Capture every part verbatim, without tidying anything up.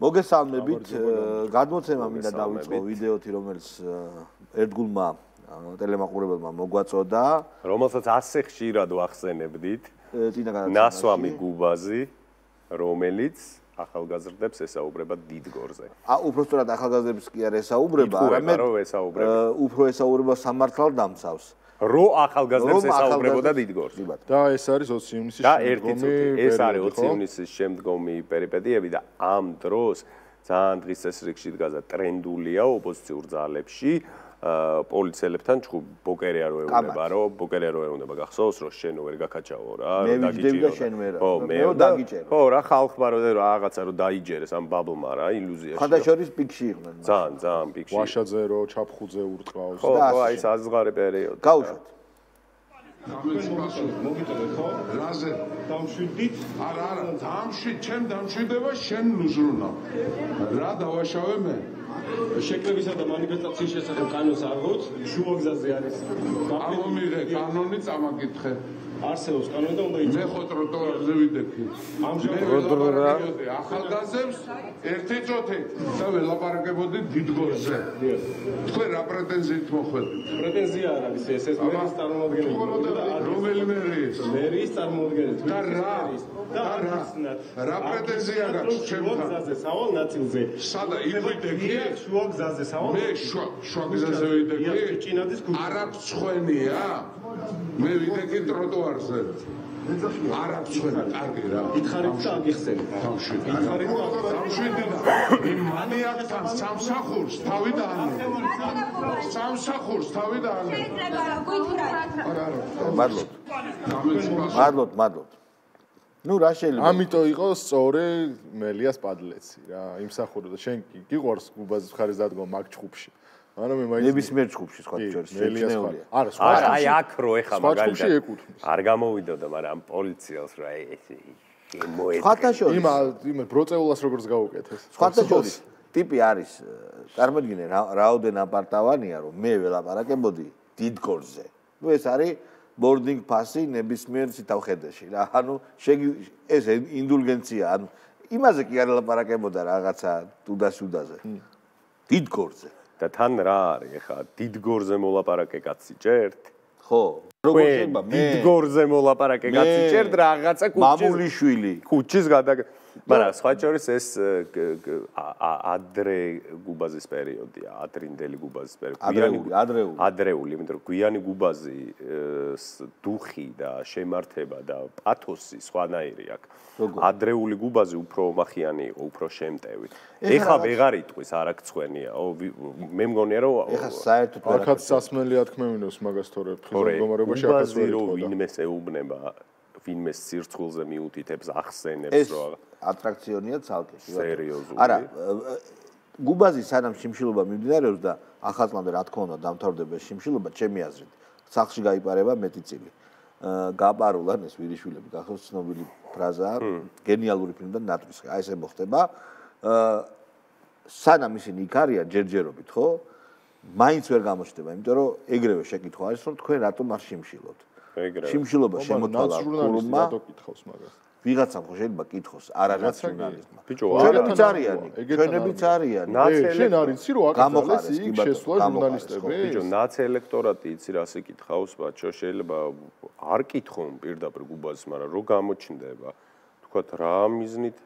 მოგესალმებით, გადმოცემა მინდა დავიწყო ვიდეოთი, რომელიც ერთგულმა ტელემაყურებელმა მოგვაწოდა, რომელსაც ასე ხშირად ვახსენებდით, ნასვამი გუბაზი, რომელიც ახალგაზრდებს ესაუბრება დიდგორზე. ა უпростоრად ახალგაზრდებს კი არ ესაუბრება, არამედ უფრო ესაუბრება სამართალდამცავს. რო ახალგაზრდებს ესაუბრებოდა დიდგორზე. და ეს არის ოცი ივნისის შემდგომი ეს არის ოცი ივნისის შემდგომი პერიპეტიები და ამ დროს ძალიან დღის წესრიგში დგას და ტრენდულია ოპოზიციურ ძალებში პოლიციელებთან ჩხუბი ბოკერი არ ეუნება რომ ბოკერი არ ეუნება გახსოვს რომ შენ ვერ გაკაჩაო რა დაგიჭირო ხო მე დაგიჭირო ხო რა ხალხმა რომ რაღაცა რომ დაიჯერეს ამ ბაბლმა რა ილუზიაში ხანდაშორის პიკში იყვნენ ძალიან ძალიან პიკში ვაშაძე რო ჩაფხუძე ურტყავს ხო აი ეს აზღარი პერიოდი გავუშვათ მოგიტოვე ხო? რაზე? დამშვიდით? არა, არა, დამშვიდ, ჩემ დამშვიდება შენ ლუზრუნა. რა დავაშავე მე? შეკრებისა და მანიფესტაციის შესახებ კანონს არ ვუთ, შუაგზაზე არის. ამომიღე კანონი წამაკითხე. არსებობს კანონი და უნდა იცოდე. მე ხო ტროტუარზე ვიდექი. ამჟამად ახალგაზრდებს ერთი წოთი და ველაპარაკებოდი დიდგორზე. თქვენ რა პრეტენზიით მოხვედით? პრეტენზია არ არის ეს ეს მერის წარმოადგენელი. რომელი მერის? მერის წარმოადგენელი. და რა? და რა? რა პრეტენზია გაქვს ჩემთან? შუაგზაზე სავალ ნაწილზე. სადა ივიდექი? შუაგზაზე სავალ. მე შუაგზაზე ვიდექი? არ აქვს ცხენია? მე ვიდექი ტროტუარზე. არ აქვს ცხენი, კარგი რა. ითხარით და აგიხსენე. დავშვიდი. ითხარით და დავშვიდი და მანიაკთან სამსახურს თავი დაანე. სამსახურს თავი დაანე. არა, არა. მადლობთ. მადლობთ, მადლობთ. ნუ რა შეიძლება? ამიტომ იყო სწორი მელიას პადლეცი რა, იმსახურდა შენ გიყვარს გუბაზის ხარის დადგომა მაგ ჩხუბში. არა მე მაინც ნებისმიერ ჩხუბში სხვა შორის შეჩნეულია. არა, სხვა არა, აი აქ რო ეხა მაგალითად ეკუთვნის. არ გამოვიდოდა, მაგრამ ამ პოლიციელს რა მოეწყო. სხვათა შორის იმ იმ ბროწეულას როგორც გაუკეთეს. სხვათა შორის ტიპი არის, წარმოიდგინე რაოდენ აპარტავანია, რომ მე ველაპარაკებოდი დიდგორზე. ნუ ეს არის boarding pass-ი ნებისმიერ ციტავხედეში რა. ანუ ეს ინდულგენცია, ანუ იმაზე კი არ ელაპარაკებოდა რაღაცა თუდასუდაზე. დიდგორზე. და თან რა არის ეხა დიდგორზე მოლაპარაკე კაცი ჭერთ? ხო, როგორ შეიძლება მე დიდგორზე მოლაპარაკე კაცი ჭერთ რაღაცა კუჩის მამულიშვილი. კუჩის გადა მაგრამ სხვა შორის ეს ადრე გუბაზის პერიოდია, ადრინდელი გუბაზის პერიოდი. ადრეული, ადრეული. ადრეული, იმიტომ რომ გვიანი გუბაზი დუხი და შემართება და პათოსი სხვანაირი აქვს. ადრეული გუბაზი უფრო ომახიანი იყო, უფრო შემტევი. ეხა ვეღარ იტყვის არ აქვს ცხენია. მე მგონია რომ ეხა საერთოდ აქაც სასმელია თქმევინოს მაგას თორე ფხიზო მდგომარეობაში აქაც ვერ იტყვა. ვინმეს ეუბნება, ვინმეს სირცხულზე მიუთითებს, ახსენებს რა. ატრაქციონია ცალკე. სერიოზული. არა, გუბაზი სანამ შიმშილობა მიმდინარეობს და ახალწლამდე რა თქმა უნდა დამთავრდება შიმშილობა, ჩემი აზრით, სახლში გაიპარება მეტი წილი. გაპარულან ეს ვირიშვილები, გახსოვს ცნობილი ფრაზაა, გენიალური ფილმიდან ნატვისხე. აი ესე მოხდება. სანამ ისინი იქ არიან ჯერჯერობით, ხო? მაინც ვერ გამოჩნდება, იმიტომ რომ ეგრევე შეკითხვა არის, რომ თქვენ რატომ არ შიმშილობთ? ეგრევე. შიმშილობა შემოთვალა ქურუმმა. რატო კითხავს მაგას? ვიღაცამ ხო შეიძლება კითხოს, არა ნაციონალიზმმა. ბიჭო, ჩვენებიც არიანი, ჩვენებიც არიანი. შენ არ იცი რომ აკრძალეს იქ შესვლა ჟურნალისტები? ბიჭო, ნაც ელექტორატი იცი რას იკითხავს, ბაჭო, შეიძლება არ კითხონ პირდაპირ გუბაზს, მაგრამ რო გამოჩნდება, თქვათ რა მიზნით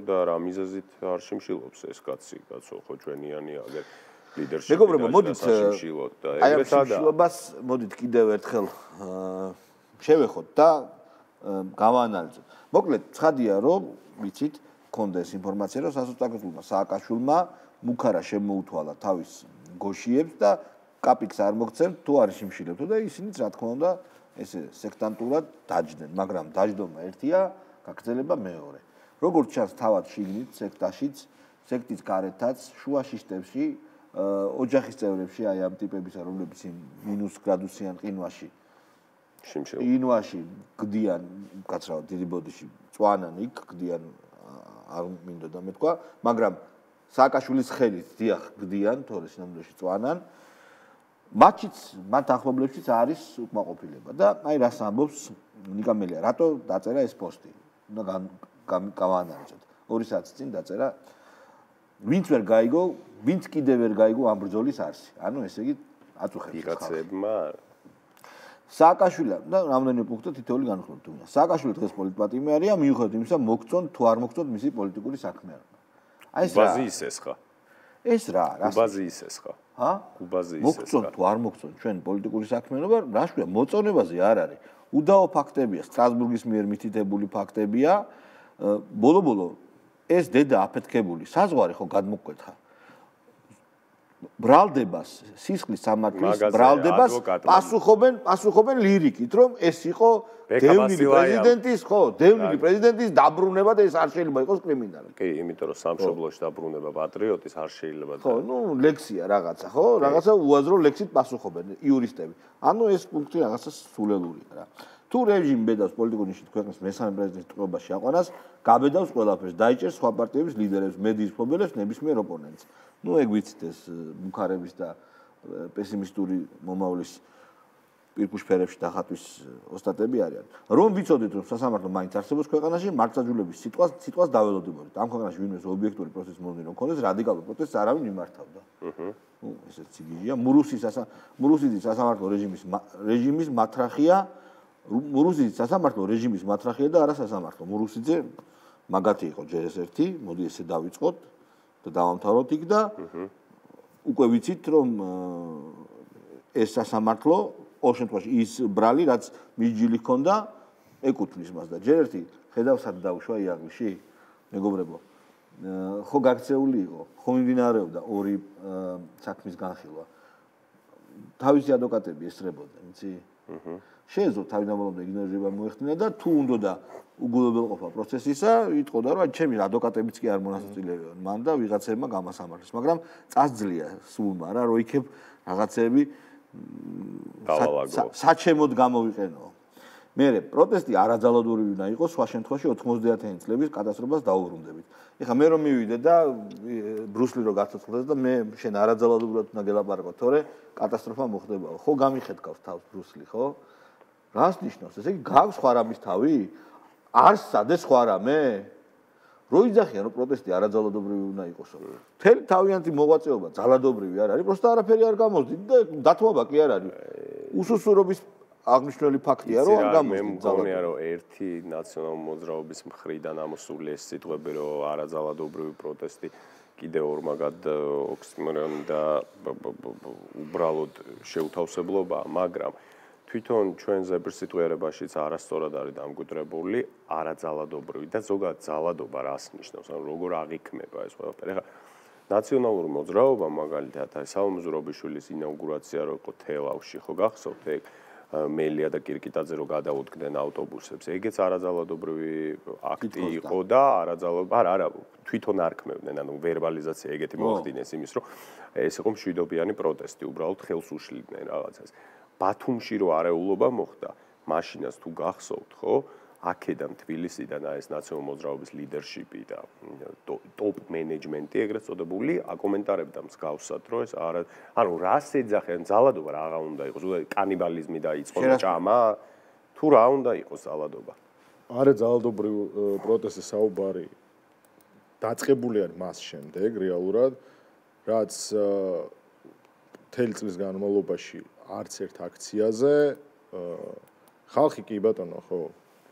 და რა მიზეზით არ შიმშილობს ეს კაცი, კაცო, ხო ჩვენიანი აგერ ლიდერში. მეგობრებო, მოდით შიმშილოთ და ეგრე სადა. აი ამ შიმშილობას მოდით კიდევ ერთხელ შევეხოთ და გავაანალიზოთ. მოკლედ, ცხადია, რომ ვიცით, გქონდა ეს ინფორმაცია, რომ სასოწარკვეთილმა სააკაშვილმა მუქარა შემოუთვალა თავის გოშიებს და კაპიკს არ მოგცემთ, თუ არ შიმშილებთო და ისინიც რა თქმა უნდა, ესე სექტანტურად დაჯდნენ, მაგრამ დაждდომა ერთია, გაგრძელება მეორე. როგორც ჩანს, თავად შიგნით სექტაშიც, სექტის გარეთაც, შუა შიშტებში, ოჯახის წევრებში, აი ამ ტიპებისა, რომლებიც იმ მინუს გრადუსიან ყინვაში ინვაში გდიან, კაცრავად დიდი ბოდიში წვანან იქ გდიან, არ მინდოდა მეთქვა, მაგრამ სააკაშვილის ხელით დიახ გდიან, თორე სინამდვილეში წვანან. მათიც, მათ ახლობლებშიც არის უკმაყოფილება და აი რას ამბობს ნიკა მელია, რატო დაწერა ეს პოსტი? უნდა გავაანალიზოთ. ორი საათის წინ დაწერა ვინც ვერ გაიგო, ვინც კიდევ ვერ გაიგო ამ ბრძოლის არსი. ანუ ესე იგი აწუხებს. ვიღაცებმა სააკაშვილი და რამდენიმე პუნქტი თითოეული განხილვა თუნდა. სააკაშვილი დღეს პოლიტპატიმარია, მიუხედავად იმისა, მოგწონ თუ არ მოგწონ მისი პოლიტიკური საქმიანობა. აი ეს რა? ბაზი ისეს ხა? ეს რა, რა? ბაზი ისეს ხა? ჰა? ბაზი ისეს. მოგწონ თუ არ მოგწონ ჩვენ პოლიტიკური საქმიანობა, რა შეგვიძლია მოწონებაზე არ არის. უდაო ფაქტებია, სტრასბურგის მიერ მითითებული ფაქტებია. ბოლო-ბოლო ეს დედა აფეთქებული საზღვარი ხო გადმოკვეთა. ბრალდებას, სისხლის სამართლის ბრალდებას პასუხობენ, პასუხობენ ლირიკით, რომ ეს იყო დევნილი პრეზიდენტის, ხო, დევნილი პრეზიდენტის დაბრუნება და ეს არ შეიძლება იყოს კრიმინალი. კი, იმიტომ რომ სამშობლოში დაბრუნება პატრიოტის არ შეიძლება. ხო, ну, ლექსია რაღაცა, ხო? რაღაცა უაზრო ლექსით პასუხობენ იურისტები. ანუ ეს პუნქტი რაღაცა სულელურია რა. თუ რეჟიმი ბედავს პოლიტიკურ ნიშნით ქვეყნის მესამე პრეზიდენტის ტყვეობაში აყვანას, გაბედავს ყველაფერს, დაიჭერს სხვა პარტიების ლიდერებს, მედიის მფლობელებს, ნებისმიერ ოპონენტს. ну ეგ ვიცით ეს ბუქარების და პესიმისტური მომავლის პირქუშფერებში დახატვის ოსტატები არიან. რომ ვიცოდით რომ სასამართლო მაინც არსებობს ქვეყანაში, მართლმსაჯულების სიტყვას სიტყვას დაველოდებოდით. ამ ქვეყანაში ვინმეს ობიექტური პროცესი მომდინო ქონდეს, რადიკალურ პროტესტს არავინ მიმართავდა. აჰა. ну ესეც ციგიჟია. მურუსის მურუსის სასამართლო რეჟიმის რეჟიმის მათრახია, მურუსის სასამართლო რეჟიმის მათრახია და არა სასამართლო. მურუსიძე მაგათი იყო ჯერ ეს ერთი, მოდი ესე დავიწყოთ. და დავამთავროთ იქ და უკვე ვიცით რომ ეს სასამართლო ყოველ შემთხვევაში ის ბრალი რაც მიჯილი ჰქონდა ეკუთვნის მას და ჯერ ერთი ხედავსად დავუშვა იაღლში მეგობრებო ხო გაქცეული იყო ხო მიმდინარეობდა ორი საქმის განხილვა თავისი ადვოკატები ესწრებოდნენ იცი შეეძლო თავიდან ბოლომდე იგნორირება მოეხდინა და თუ უნდოდა უგულებელყოფა პროცესისა, იტყოდა რომ ჩემი ადვოკატებიც კი არ მონაწილეობენ მან და ვიღაცებმა გამასამართლეს, მაგრამ წასძლია სულმა რა, რომ იქებ რაღაცები საჩემოდ გამოვიყენო. მე პროტესტი არაძალადური უნდა იყოს, სხვა შემთხვევაში ოთხმოცდაათიანი წლების კატასტროფას დაუბრუნდებით. ეხლა მე რომ მივიდე და ბრუსლი რო გაცოცხლდეს და მე შენ არაძალადურად უნდა გელაპარაკო, თორე კატასტროფა მოხდებაო. ხო გამიხეთქავს თავს ბრუსლი, ხო? რას ნიშნავს? ესე იგი გაქვს სხვა რამის თავი? არ სადეს სხვა რამე? რო იძახიან რომ პროტესტი არაძალადობრივი უნდა იყოსო. მთელი თავიანთი მოღვაწეობა ძალადობრივი არ არის, პროსტა არაფერი არ გამოსდით და დათმობა კი არ არის. უსუსურობის აღნიშნული ფაქტია რომ არ გამოსდით. მე მგონია რომ ერთი ნაციონალ მოძრაობის მხრიდან ამოსული ეს სიტყვები რომ არაძალადობრივი პროტესტი კიდევ ორ მაგად ოქსიმორონი და უბრალოდ შეუთავსებლობაა, მაგრამ თვითონ ჩვენ ზებრსიტყვიერებაშიც არასწორად არის დამკვიდრებული არაძალადობრივი და ზოგადად ძალადობა რას ნიშნავს, ანუ როგორ აღიქმება ეს ყველაფერი. ეხლა ნაციონალური მოძრაობა მაგალითად აი სალომე ზურაბიშვილის ინაუგურაცია რო იყო თელავში, ხო გახსოვთ ეგ მელია და კირკიტაძე რო გადაუდგნენ ავტობუსებს, ეგეც არაძალადობრივი აქტი იყო და არაძალადობა არა არა თვითონ არ ქმევდნენ, ანუ ვერბალიზაცია ეგეთი მოხდინეს იმის რომ ეს იყო მშვიდობიანი პროტესტი, უბრალოდ ხელს უშლიდნენ რაღაცას. ბათუმში რო არეულობა მოხდა, მაშინაც თუ გახსოვთ, ხო? აქედან თბილისიდან ეს ნაციონალური მოძრაობის ლიდერშიპი და ტოპ მენეჯმენტი ეგრეთ წოდებული აკომენტარებდა მსგავსად, რომ ეს არა, ანუ რას ეძახიან, ძალადობა რა უნდა იყოს, ზოგადად კანიბალიზმი დაიწყო ჭამა, თუ რა უნდა იყოს ძალადობა? არა ძალადობრივი პროტესტის საუბარი დაწყებული არის მას შემდეგ რეალურად, რაც მთელი წლის განმავლობაში არც ერთ აქციაზე ხალხი კი ბატონო ხო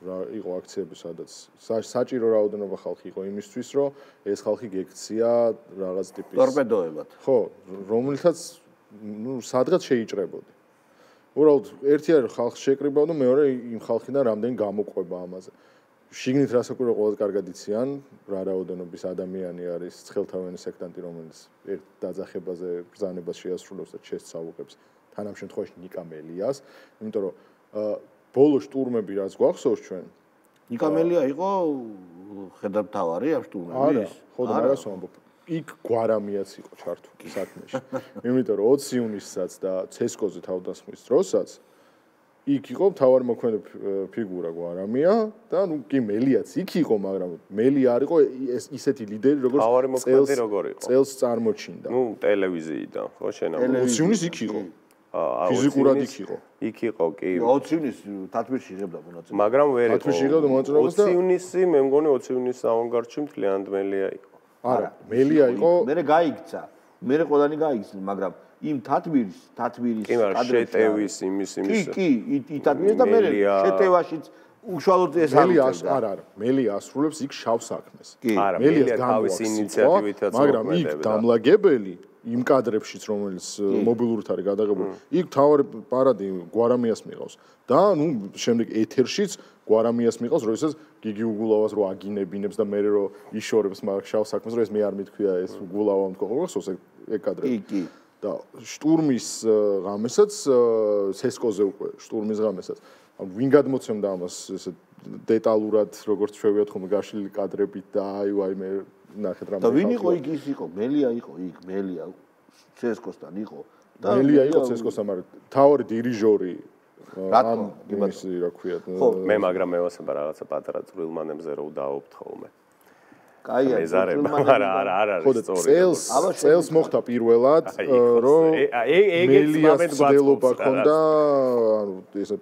რა იყო აქციები სადაც საჭირო რაოდენობა ხალხი იყო იმისთვის რომ ეს ხალხი გექცია რაღაც ტიპის ტორპედოებად ხო რომელთაც ნუ სადღაც შეიჭრებოდი უბრალოდ ერთი არის ხალხს შეკრიბავდა მეორე იმ ხალხიდან რამდენი გამოყვება ამაზე შიგნით რასაკვირველია ყველაზე კარგად იციან რა რაოდენობის ადამიანი არის ცხელთავიანი სექტანტი რომელიც ერთ დაძახებაზე ბრძანებას შეასრულებს და ჩესს საუყებს თან ამ შემთხვევაში ნიკა მელიას იმიტომ რომ ბოლო შტურმები რაც გვახსოვს ჩვენ ნიკა მელია იყო ხედავთავარი ამ შტურმების ხო და მაგას ვამბობ იქ გვარამიაც იყო ჩართული საქმეში იმიტომ რომ ოცი ივნისსაც და ცესკოზე თავდასხმის დროსაც იქ იყო მთავარი მოქმედი ფიგურა გვარამია და ნუ კი მელიაც იქ იყო მაგრამ მელია არ იყო ისეთი ლიდერი როგორც მთავარი მოქმედი როგორ იყო წელს წარმოჩინდა ნუ ტელევიზიიდან ხო შენა ოცი ივნისს იქ იყო ფიზიკურად იქ იყო. იქ იყო, კი. ოცი ივნისს თათბირში იღებდა მონაწილეობას. მაგრამ ვერ იყო. თათბირში იღებდა მონაწილეობას და ოცი ივნისი, მე მგონი ოცი ივნისის ავანგარდში მთლიანად მელია იყო. არა, მელია იყო. მე გაიქცა. მე ყველანი გაიქცნენ, მაგრამ იმ თათბირის, თათბირის კადრების იმის იმის კი, კი, თათბირის და მე შეტევაშიც უშუალოდ ეს მელიას არა, არა, მელია ასრულებს იქ შავ საქმეს. არა, მელია თავის ინიციატივითაც მაგრამ იქ დამლაგებელი იმ კადრებშიც რომელიც მობილურით არის გადაღებული, იქ თავარი პარადი გვარამიას მიყავს და ნუ შემდეგ ეთერშიც გვარამიას მიყავს, როდესაც გიგი უგულავას რო აგინებინებს და მე რო იშორებს მაგ შავ საქმეს, რომ ეს მე არ მithქვია ეს უგულავა მქონს, ეს ეგ კადრები. კი, კი. და შტურმის ღამესაც სესკოზე უკვე შტურმის ღამესაც ვინ გადმოცემდა ამას ესე დეტალურად როგორც შევიოთ ხომ გაშლილი კადრებით და აი ვაი მე ნახეთ რა და ვინ იყო იქ ის იყო მელია იყო იქ მელია სესკოსთან იყო და მელია იყო სესკოსთან მაგრამ თავი დირიჟორი რატომ იმის რა ქვია მე მაგრამ მე ვასება რაღაცა პატარა წვრილმანებზე რო დავობთ ხოლმე კაია არა არა არა არის სწორი წელს წელს მოხდა პირველად რომ მელიას ცდილობა ქონდა ანუ ესე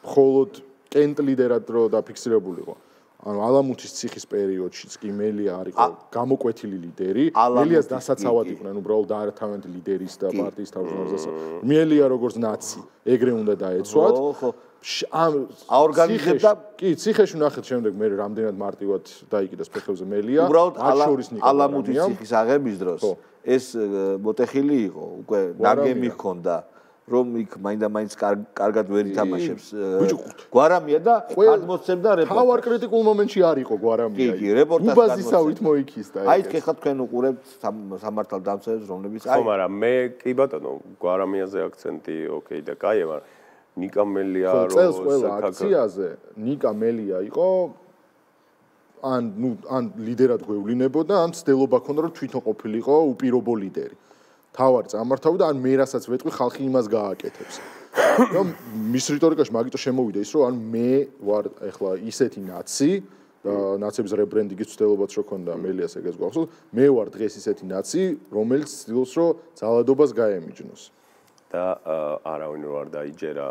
მხოლოდ კენტ ლიდერად რო დაფიქსირებულიყო ანუ ალამუთის ციხის პერიოდშიც კი მელია არისო გამოკვეთილი ლიდერი მელიას დასაცავად იყვნენ უბრალოდ ართავენთ ლიდერის და პარტიის თავმჯდომარეს მელია როგორც ნაცი ეგრე უნდა დაეცვათ ამ აორგანიზებდა კი ციხეში ნახეთ შემდეგ მე რამდენად მარტივად დაიკიდეს ფეხებზე მელია უბრალოდ ალამუთის ციხის აღების დროს ეს მოტეხილი იყო უკვე ნაგემი ჰქონდა რომ იქ მაინდა-მაინც კარგად ვერ ითამაშებს გვარამია და გადმოსცემდა რეპორტაჟს. თავარ კრიტიკულ მომენტში არ იყო გვარამია. კი, კი, რეპორტაჟს უბაზისავით მოიქისდა. აი ეხლა თქვენ უყურებთ სამართალ დამცველებს, რომლებიც აი ხო, მაგრამ მე კი ბატონო, გვარამიაზე აქცენტი ოკეი და კაია, მაგრამ ნიკა მელია რო წელს ყველა აქციაზე ნიკა მელია იყო ან ნუ ან ლიდერად გვევლინებოდა, ან ცდილობა ქონდა რომ თვითონ ყოფილიყო უპირობო ლიდერი. თავარ წამართავდა ან მე რასაც ვეტყვი ხალხი იმას გააკეთებს. რომ მის რიტორიკაში მაგიტო შემოვიდა ის რომ ან მე ვარ ეხლა ისეთი ნაცი და ნაცების რებრენდინგის ცდილობაც რო ქონდა მელიას ეგეც გვახსოვს მე ვარ დღეს ისეთი ნაცი რომელიც ცდილობს რომ ძალადობას გაემიჯნოს და არავინ რო არ დაიჯერა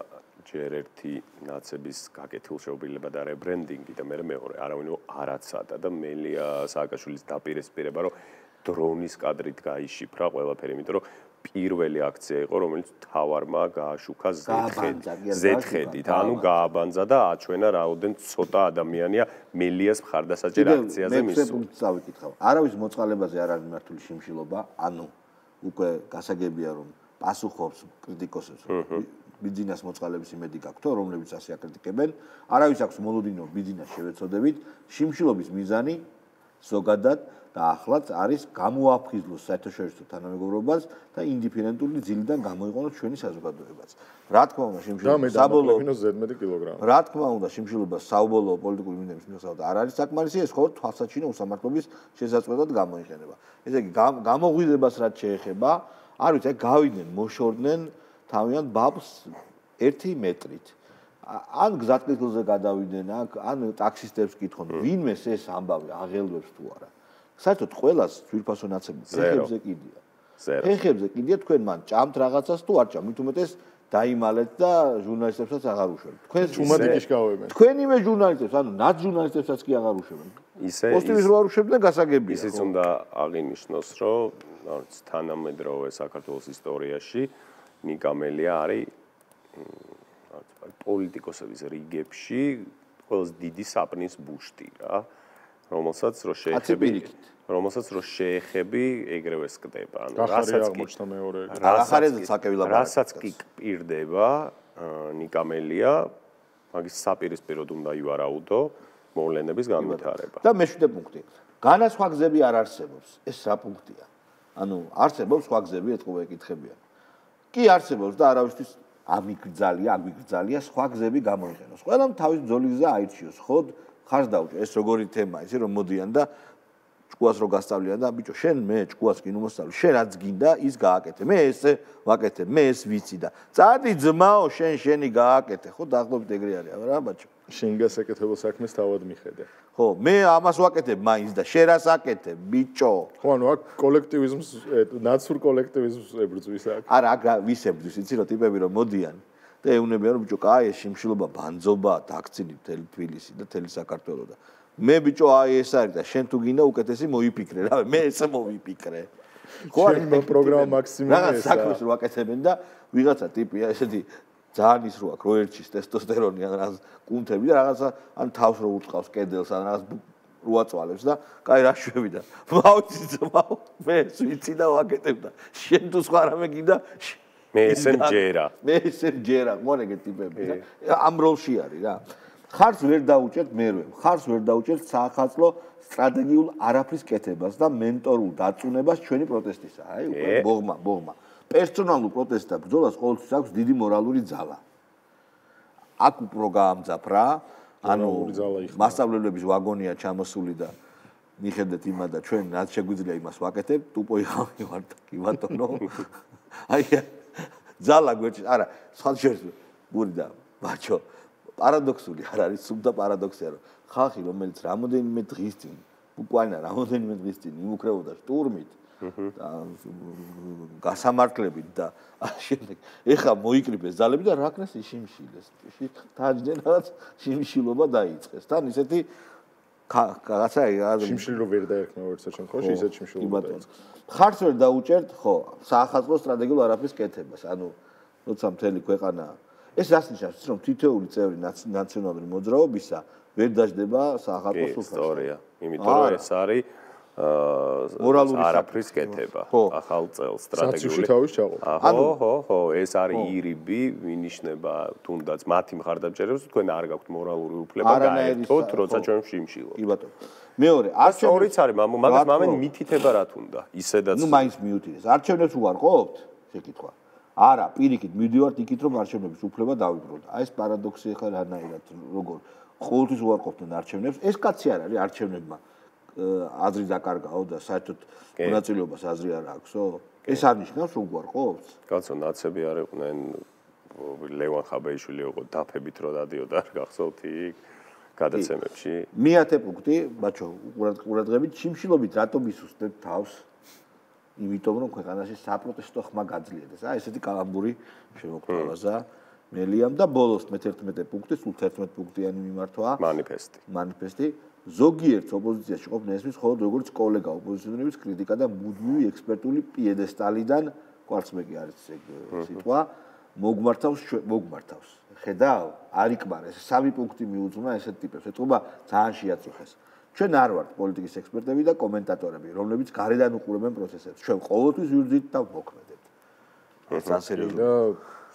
ჯერ ერთი ნაცების გაკეთილშეობილება და რებრენდინგი და მე მეორე არავინ რო არაცადა და მელია სააკაშვილის დაპირისპირება რომ დრონის კადრით გაიშიფრა ყველაფერი, იმიტომ რომ პირველი აქცია იყო, რომელიც თავარმა გააშუქა ზეთხედით, ანუ გააბანძა და აჩვენა რაოდენ ცოტა ადამიანია მელიას მხარდასაჭერ აქციაზე მისულ. მე პუნქტს დავიკითხავ. არავის მოწყალებაზე არ არის მართული შიმშილობა, ანუ უკვე გასაგებია რომ პასუხობს კრიტიკოსებს. ბიძინას მოწყალების იმედი გაქვთ, რომლებიც ასე აკრიტიკებენ. არავის აქვს მოლოდინო ბიძინას შევეცოდებით. შიმშილობის მიზანი ზოგადად და ახლაც არის გამოაფხიზლოს საერთაშორისო თანამეგობრობას და ინდიფერენტული ძილიდან გამოიყენოს ჩვენი საზოგადოებაც. რა თქმა უნდა, შიმშილობა საბოლოო ზედმეტი კილოგრამი. რა თქმა უნდა, შიმშილობა საბოლოო პოლიტიკური მინდების მიხედვით არ არის საკმარისი, ეს მხოლოდ თვალსაჩინო უსამართლობის შესაძლებლად გამოიყენება. ესე იგი, გამოღვიძებას რაც შეეხება, არ ვიცი, გავიდნენ, მოშორდნენ თავიანთ ბაბს ერთი მეტრით. ან გზატკეცილზე გადავიდნენ, ან ტაქსისტებს კითხონ, ვინმეს ეს ამბავი აღელვებს თუ არა. საერთოდ ყველას ძვირფასო ნაცები ფეხებზე კიდია. ფეხებზე კიდია თქვენ მან ჭამთ რაღაცას თუ არ ჭამთ, მით უმეტეს დაიმალეთ და ჟურნალისტებსაც აღარ უშვებთ. თქვენ ჩუმადიკის გავებენ. თქვენივე ჟურნალისტებს, ანუ ნაც ჟურნალისტებსაც კი აღარ უშვებენ. ისე პოსტივის რო არ უშვებდნენ გასაგებია. ისიც უნდა აღინიშნოს, რომ არც თანამედროვე საქართველოს ისტორიაში ნიკა მელია არის პოლიტიკოსების რიგებში ყველაზე დიდი საპნის ბუშტი რა. რომელსაც რო შეეხები რომელსაც რო შეეხები ეგრევე სკდება ანუ რასაც აღმოჩნდა მეორე რასაც კი პირდება ნიკა მელია მაგის საპირისპიროდ უნდა ივარაუდო მოვლენების განვითარება და მეშვიდე პუნქტი განაცხვა გზები არ არსებობს ეს რა პუნქტია ანუ არსებობს სხვა გზები ეთყობა ეკითხებიან კი არსებობს და არავისთვის ამიგრძალია ამიგრძალია სხვა გზები გამოიყენოს ყველამ თავის ბრძოლის გზა აირჩიოს ხო ხარს დაუჭე ეს როგორი თემაა ისი რომ მოდიან და ჭკუას რო გასწავლიან და ბიჭო შენ მე ჭკუას კი ნუ მოსწავლე შენ რაც გინდა ის გააკეთე მე ესე ვაკეთე მე ეს ვიცი და წადი ძმაო შენ შენი გააკეთე ხო დაახლოებით ეგრე არის რა ბაჭო შენ გასაკეთებელ საქმეს თავად მიხედე ხო მე ამას ვაკეთებ მაინც და შენ რას აკეთებ ბიჭო ხო ანუ აქ კოლექტივიზმს ნაცურ კოლექტივიზმს ებრძვის აქ არა აქ ვისებძვის იცი რომ ტიპები რომ მოდიან და ეუნებიან რომ ბიჭო კაი ეს შიმშილობა ბანძობა დაქცინი მთელი თბილისი და მთელი საქართველო და მე ბიჭო აი ეს არის და შენ თუ გინდა უკეთესი მოიფიქრე რა მე ესე მოვიფიქრე ხო არის პროგრამა მაქსიმუმი რა საქმეს რო აკეთებენ და ვიღაცა ტიპია ესეთი ძალიან ის რო აქვს რო ერჩის ტესტოსტერონი ან რაღაც კუნთები და რაღაცა ან თავს რო უწყავს კედელს ან რაღაც როაწვალებს და კაი რა შვები და მავიცი ძმაო მე ვიცი და ვაკეთებ და შენ თუ სხვა რამე გინდა მე ესე მჯერა მე ესე მჯერა მორეგე ტიპები და ამ როლში არის რა ხარს ვერ დაუჭერთ მერვე ხარს ვერ დაუჭერთ საახალწლო სტრატეგიულ არაფრის კეთებას და მენტორულ დაწუნებას ჩვენი პროტესტისა აი უკვე ბოღმა ბოღმა პერსონალურ პროტესტს და ბრძოლას ყოველთვის აქვს დიდი მორალური ძალა აქ უფრო გაამძაფ რა ანუ მასშტაბლებლების ვაგონია ჩამოსული და მიხედეთ იმა და ჩვენ რაც შეგვიძლია იმას ვაკეთებ ტუპო იყავი ვარ კი ბატონო აი ძალა გვერდში არა სხვა შეიძლება გური და ბაჩო პარადოქსული არ არის სულ და პარადოქსია რომ ხალხი რომელიც რამოდენიმე დღის წინ უკანა რამოდენიმე დღის წინ იმუქრებოდა შტურმით და გასამართლებით და შემდეგ ეხა მოიკრიბეს ძალები და რა ქნეს შიმშილეს დაჯდნენ რაღაც შიმშილობა დაიწყეს თან ისეთი რაღაცა შიმშილო ვერ დაერქნა ვერცა შემთხვევაში ისეთ შიმშილობა დაიწყეს ხარს ვერ დაუჭერთ ხო საახალწლო სტრატეგიულ არაფრის კეთებას ანუ როცა მთელი ქვეყანა ეს რას ნიშნავს რომ თითოეული წევრი ნაციონალური მოძრაობისა ვერ დაждდება საახალწლო სუფრაში ისტორია იმიტომ რომ ეს არის მორალური არაფრის კეთება ახალ წელს სტრატეგიული თავის ჩაყო ხო ხო ხო ეს არის ირიბი მინიშნება თუნდაც მათი მხარდამჭერებს თქვენ არ გაქვთ მორალური უფლება გაერთოთ როცა ჩვენ შიმშილობთ კი ბატონო მეორე არჩევნებიც არის მაგას მამენ მითითება რა თუნდა ისედაც ნუ მაინც მიუთითეს არჩევნებს უარყოფთ შეკითხვა არა პირიქით მივდივართ იქით რომ არჩევნების უფლება დავიბრუნოთ აი ეს პარადოქსი ხარ რანაირად როგორ ყოველთვის უარყოფდნენ არჩევნებს ეს კაცი არ არის არჩევნებმა აზრი დაკარგაო და საერთოდ მონაწილეობას აზრი არ აქვსო ეს არ ნიშნავს რომ უარყოფს კაცო ნაცები არ იყვნენ ლევან ხაბეიშვილი იყო დაფებით რო დადიოდა არ გახსოვთ იქ გადაცემებში მეათე პუნქტი ბაჩო ყურადღებით შიმშილობით რატომ ისუსტებ თავს იმიტომ რომ ქვეყანაში საპროტესტო ხმა გაძლიერდეს აი ესეთი კალამბური შემოგთავაზა მელიამ და ბოლოს მეთერთმეტე პუნქტი სულ თერთმეტ პუნქტიანი მიმართვა მანიფესტი მანიფესტი ზოგიერთ ოპოზიციაში ყოფნა ესმის მხოლოდ როგორც კოლეგა ოპოზიციონერების კრიტიკა და მუდმივი ექსპერტული პიედესტალიდან კვარცხმეკი არის ეს სიტყვა მოგმართავს მოგმართავს ხედავ არ იკმარეს სამი პუნქტი მიუძღვნა ესეთ ტიპებს ეთყობა ძალიან შეაწუხეს ჩვენ არ ვართ პოლიტიკის ექსპერტები და კომენტატორები რომლებიც გარედან უყურებენ პროცესებს ჩვენ ყოველთვის ვირძით და მოქმედებთ ეს ძალიან სერიოზული და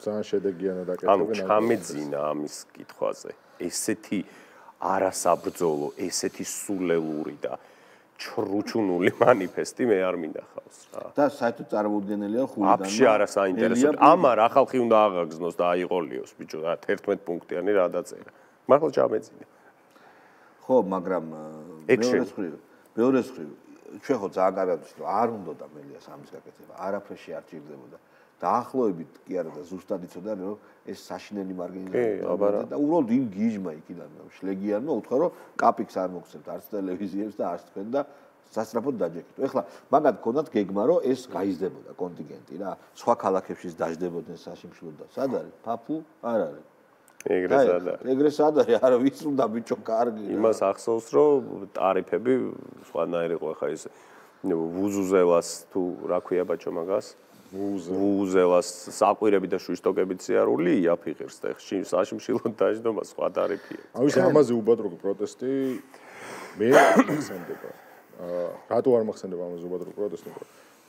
ძალიან შედეგიანად აკეთებენ ანუ ჩამეძინა ამის კითხვაზე ესეთი არასაბრძოლო ესეთი სულელური და ჩრუჩუნული მანიფესტი მე არ მინახავს რა და საერთოდ წარმოუდგენელია ხულიდანმა აფშე არა საინტერესო ამარ ახალ ხი უნდა აღაგზნოს და აიყოლიოს ბიჭო რა თერთმეტ პუნქტიანი რა დაწერა მართლა ჩამეძინა ხო მაგრამ მეორე მხრივ მეორე მხრივ ჩვენ ხო ძალიან კარგად ვიცით რომ არ უნდა და მელიას ამის გაკეთება არაფერში არ ჭირდებოდა დაახლოებით კი არა და ზუსტად იცოდა რომ ეს საშინელი მარგინალიზება და უბრალოდ იმ გიჟმა იქიდან შლეგიანმა უთხრა რომ კაპიქს არ მოგცემთ არც ტელევიზიებს და არც თქვენ და სასწრაფოდ დაჯექით. ეხლა მაგათ გქონდათ გეგმა რომ ეს გაიზრდებოდა კონტინგენტი რა სხვა ქალაქებშიც დაждდებოდნენ საშიმშილო და სად არის ფაფუ არ არის ეგრე სად არის ეგრე სად არის არა ვის უნდა ბიჭო კარგი იმას ახსოვს რომ ტარიფები სხვანაირი იყო ხა ეს ვუზუზელას თუ რა ქვია ბაჭო მაგას ვუზელას საყვირები და შუშტოკებით სიარული იაფიღებს და ხში საშიმშილო დაждობა სხვა ტარიფია აუის ამაზე უბადრო პროტესტი მე მახსენდება რატო არ მახსენდება ამაზე უბადრო პროტესტი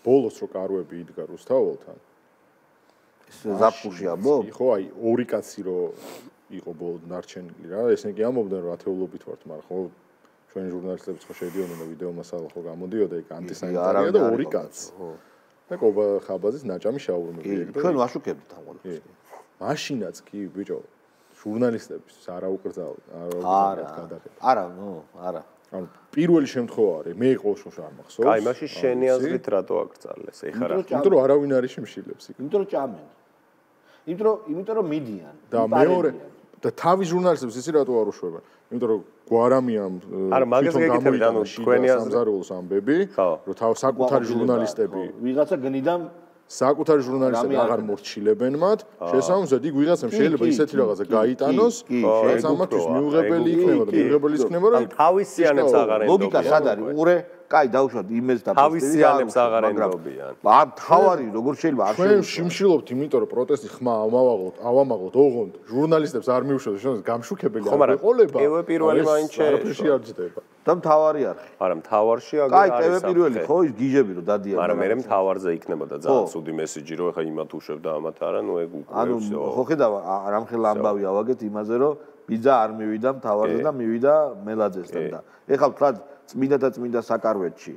ბოლოს რო კარვები იდგა რუსთაველთან ზაფხულში ამბობ? ხო, აი, ორი კაცი რო იყო ბოლოდ ნარჩენილი რა, ესენი კი ამბობდნენ რომ ათეულობით ვართ, მაგრამ ხო ჩვენი ჟურნალისტებიც ხო შედიოდნენ და ვიდეო მასალა ხო გამოდიოდა იქ ანტისანიტარია და ორი კაცი. ხო. და ყობა ხაბაძის ნაჭამი შაურმები ეგ და ჩვენ ვაშუქებთ ამ ყველაფერს. მაშინაც კი ბიჭო ჟურნალისტების არა უკრძალ არა გადაღება. არა, ნუ, არა. ანუ პირველი შემთხვევა არის, მე ყოველ შემთხვევაში არ მახსოვს. აი, მაშინ შენი აზრით რატო აკრძალეს? ეხლა რა? იმიტომ რომ არავინ არის შემშილებს იქ. იმიტომ რომ ჭამენ. იმიტომ რომ იმიტომ რომ მიდიან. და მეორე და თავის ჟურნალისტებს ისი რატო არ უშვებენ? იმიტომ რომ გვარამიამ არა, მაგას გეკითხებით, ანუ თქვენი აზრი სამზარეულოს ამბები, რომ თავ საკუთარი ჟურნალისტები ვიღაცა გნიდან საკუთარი ჟურნალისტები აღარ მორჩილებენ მათ, შესაბამისად იქ ვიღაცამ შეიძლება ისეთი რაღაცა გაიტანოს, რაც ამათვის მიუღებელი იქნება და მიუღებელი იქნება, რომ თავისიანებს აღარ ენდობიან. ლოგიკა სად არის? უყურე, კაი, დავუშვათ იმეს და თავისიანებს აღარ ენდობიან. ამ თავარი როგორ შეიძლება არ ჩვენ შიმშილობთ, იმიტომ რომ პროტესტი ხმა ავამაღლოთ, ავამაღლოთ, ოღონდ ჟურნალისტებს არ მიუშვათ, შეიძლება გამშუქებელი არ ეყოლება. პირველ პირველი მაინც არაფერში არ ჯდება. და მთავარი არხი. არა, მთავარში აგერ კაი, პირველ პირველი ხო ის გიჟები რომ დადიან. მაგრამ მე მთავარზე იქნებოდა ძალიან ცუდი მესიჯი, რომ ეხა იმათ უშვებ და ამათ არა, ნუ ეგ უკვე ანუ ხო ხედავ რამხელა ამბავი ავაგეთ იმაზე რომ ბიძა არ მივიდა მთავარზე და მივიდა მელაძესთან და ეხლა ვთქვათ წმინდა და წმინდა საკარვეთში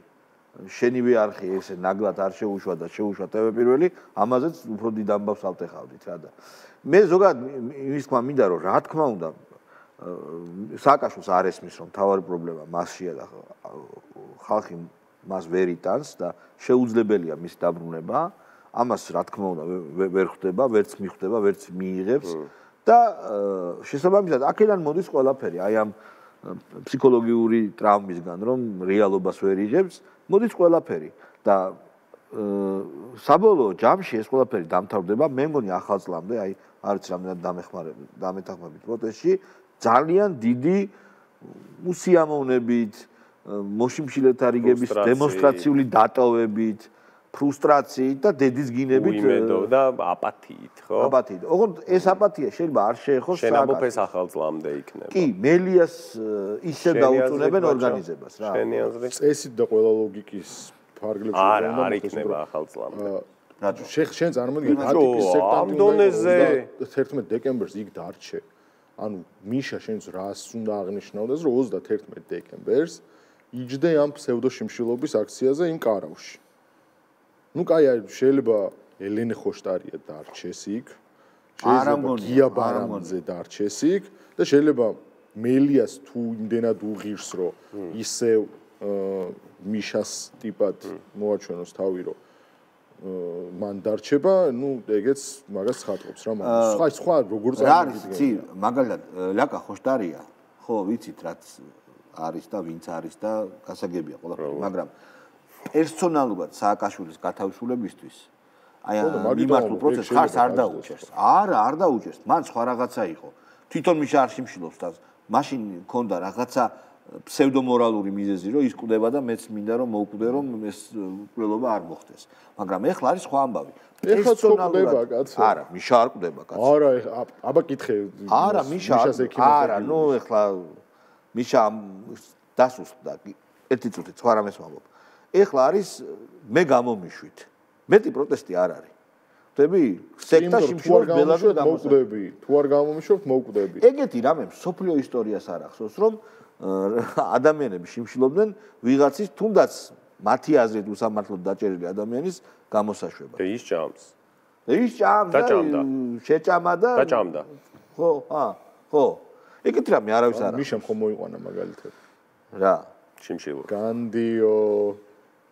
შენივე არხი ესე ნაგლად არ შეუშვა და შეუშვა ტევ პირველი ამაზეც უფრო დიდ ამბავს ავტეხავდით რა და მე ზოგადად იმის თქმა მინდა რომ რა თქმა უნდა სააკაშვილს არ ესმის რომ თავარი პრობლემა მასშია და ხალხი მას ვერ იტანს და შეუძლებელია მის დაბრუნება ამას რა თქმა უნდა ვერ ხვდება ვერც მიხვდება ვერც მიიღებს და შესაბამისად აქედან მოდის ყველაფერი აი ამ ფსიქოლოგიური ტრაუმისგან რომ რეალობას ვერ იღებს მოდის ყველაფერი და საბოლოო ჯამში ეს ყველაფერი დამთავრდება მე მგონი ახალ წლამდე აი არც რამდენად დამეხმარება დამეთანხმებით პროტესტში ძალიან დიდი უსიამოვნებით მოშიმშილეთა რიგების დემონსტრაციული დატოვებით ფრუსტრაციით და დედის გინებით უიმედო და აპათიით, ხო? აპათიით. ოღონდ ეს აპათია შეიძლება არ შეეხოს სააკაშვილს. შენაბოფეს ახალ წლამდე იქნება. კი, მელიას ისე დაუწუნებენ ორგანიზებას რა. შენი აზრით? წესით და ყველა ლოგიკის ფარგლებში არა, არ იქნება ახალ წლამდე. რატო? შენ წარმოიდგინე ატიკის სექტანტი თერთმეტ დეკემბერს იქ დარჩე. ანუ მიშა შენს რას უნდა აღნიშნავდეს, რომ ოცდათერთმეტ დეკემბერს იჯდე ამ ფსევდოშიმშილობის აქციაზე იმ კარავში. ну кай შეიძლება ელენე ხოშტარია დარჩეს იქ შეიძლება გია ბარამაძე დარჩეს იქ და შეიძლება მელიას თუ იმდენად უღირს რომ ისევ მიშას ტიპად მოაჩვენოს თავი რომ მან დარჩება ну ეგეც მაგას ხატობს რა მაგრამ სხვა სხვა როგორ წარმოგიდგენია მაგალითად ლაკა ხოშტარია ხო ვიცით რაც არის და ვინც არის და გასაგებია ყველაფერი მაგრამ პერსონალურად სააკაშვილის გათავისუფლებისთვის აი მიმართულ პროცესს ხარს არ დაუჭერს. არა, არ დაუჭერს. მან სხვა რაღაცა იყო. თვითონ მიშა არ შიმშილობს და მაშინ მქონდა რაღაცა ფსევდომორალური მიზეზი, რომ ის კვდება და მეც მინდა რომ მოვკვდე რომ ეს კვდობა არ მოხდეს. მაგრამ ეხლა არის სხვა ამბავი. ეხლა კვდება კაცო. არა, მიშა არ კვდება კაცო. არა, აბა კითხე. არა, მიშა არა, ნუ ეხლა მიშა დასუსტდა. ერთი წუთი სხვა რამეს ვამბობ. ეხლა არის მე გამომიშვით. მეტი პროტესტი არ არის. ხვდები? სექტა შიმშილობს ბელადზე გამოვკვდები. თუ არ გამომიშვებთ, მოვკვდები. ეგეთი რამე სოფლიო ისტორიას არ ახსოვს, რომ ადამიანები შიმშილობდნენ ვიღაცის თუნდაც მათი აზრით უსამართლოდ დაჭერილი ადამიანის გამოსაშვებას. და ის ჭამს. და ის ჭამს და შეჭამა და დაჭამდა. ხო, ა, ხო. ეგეთი რამე არავის არ აქვს. მიშამ ხომ მოიყვანა მაგალითად. რა? შიმშილო. განდიო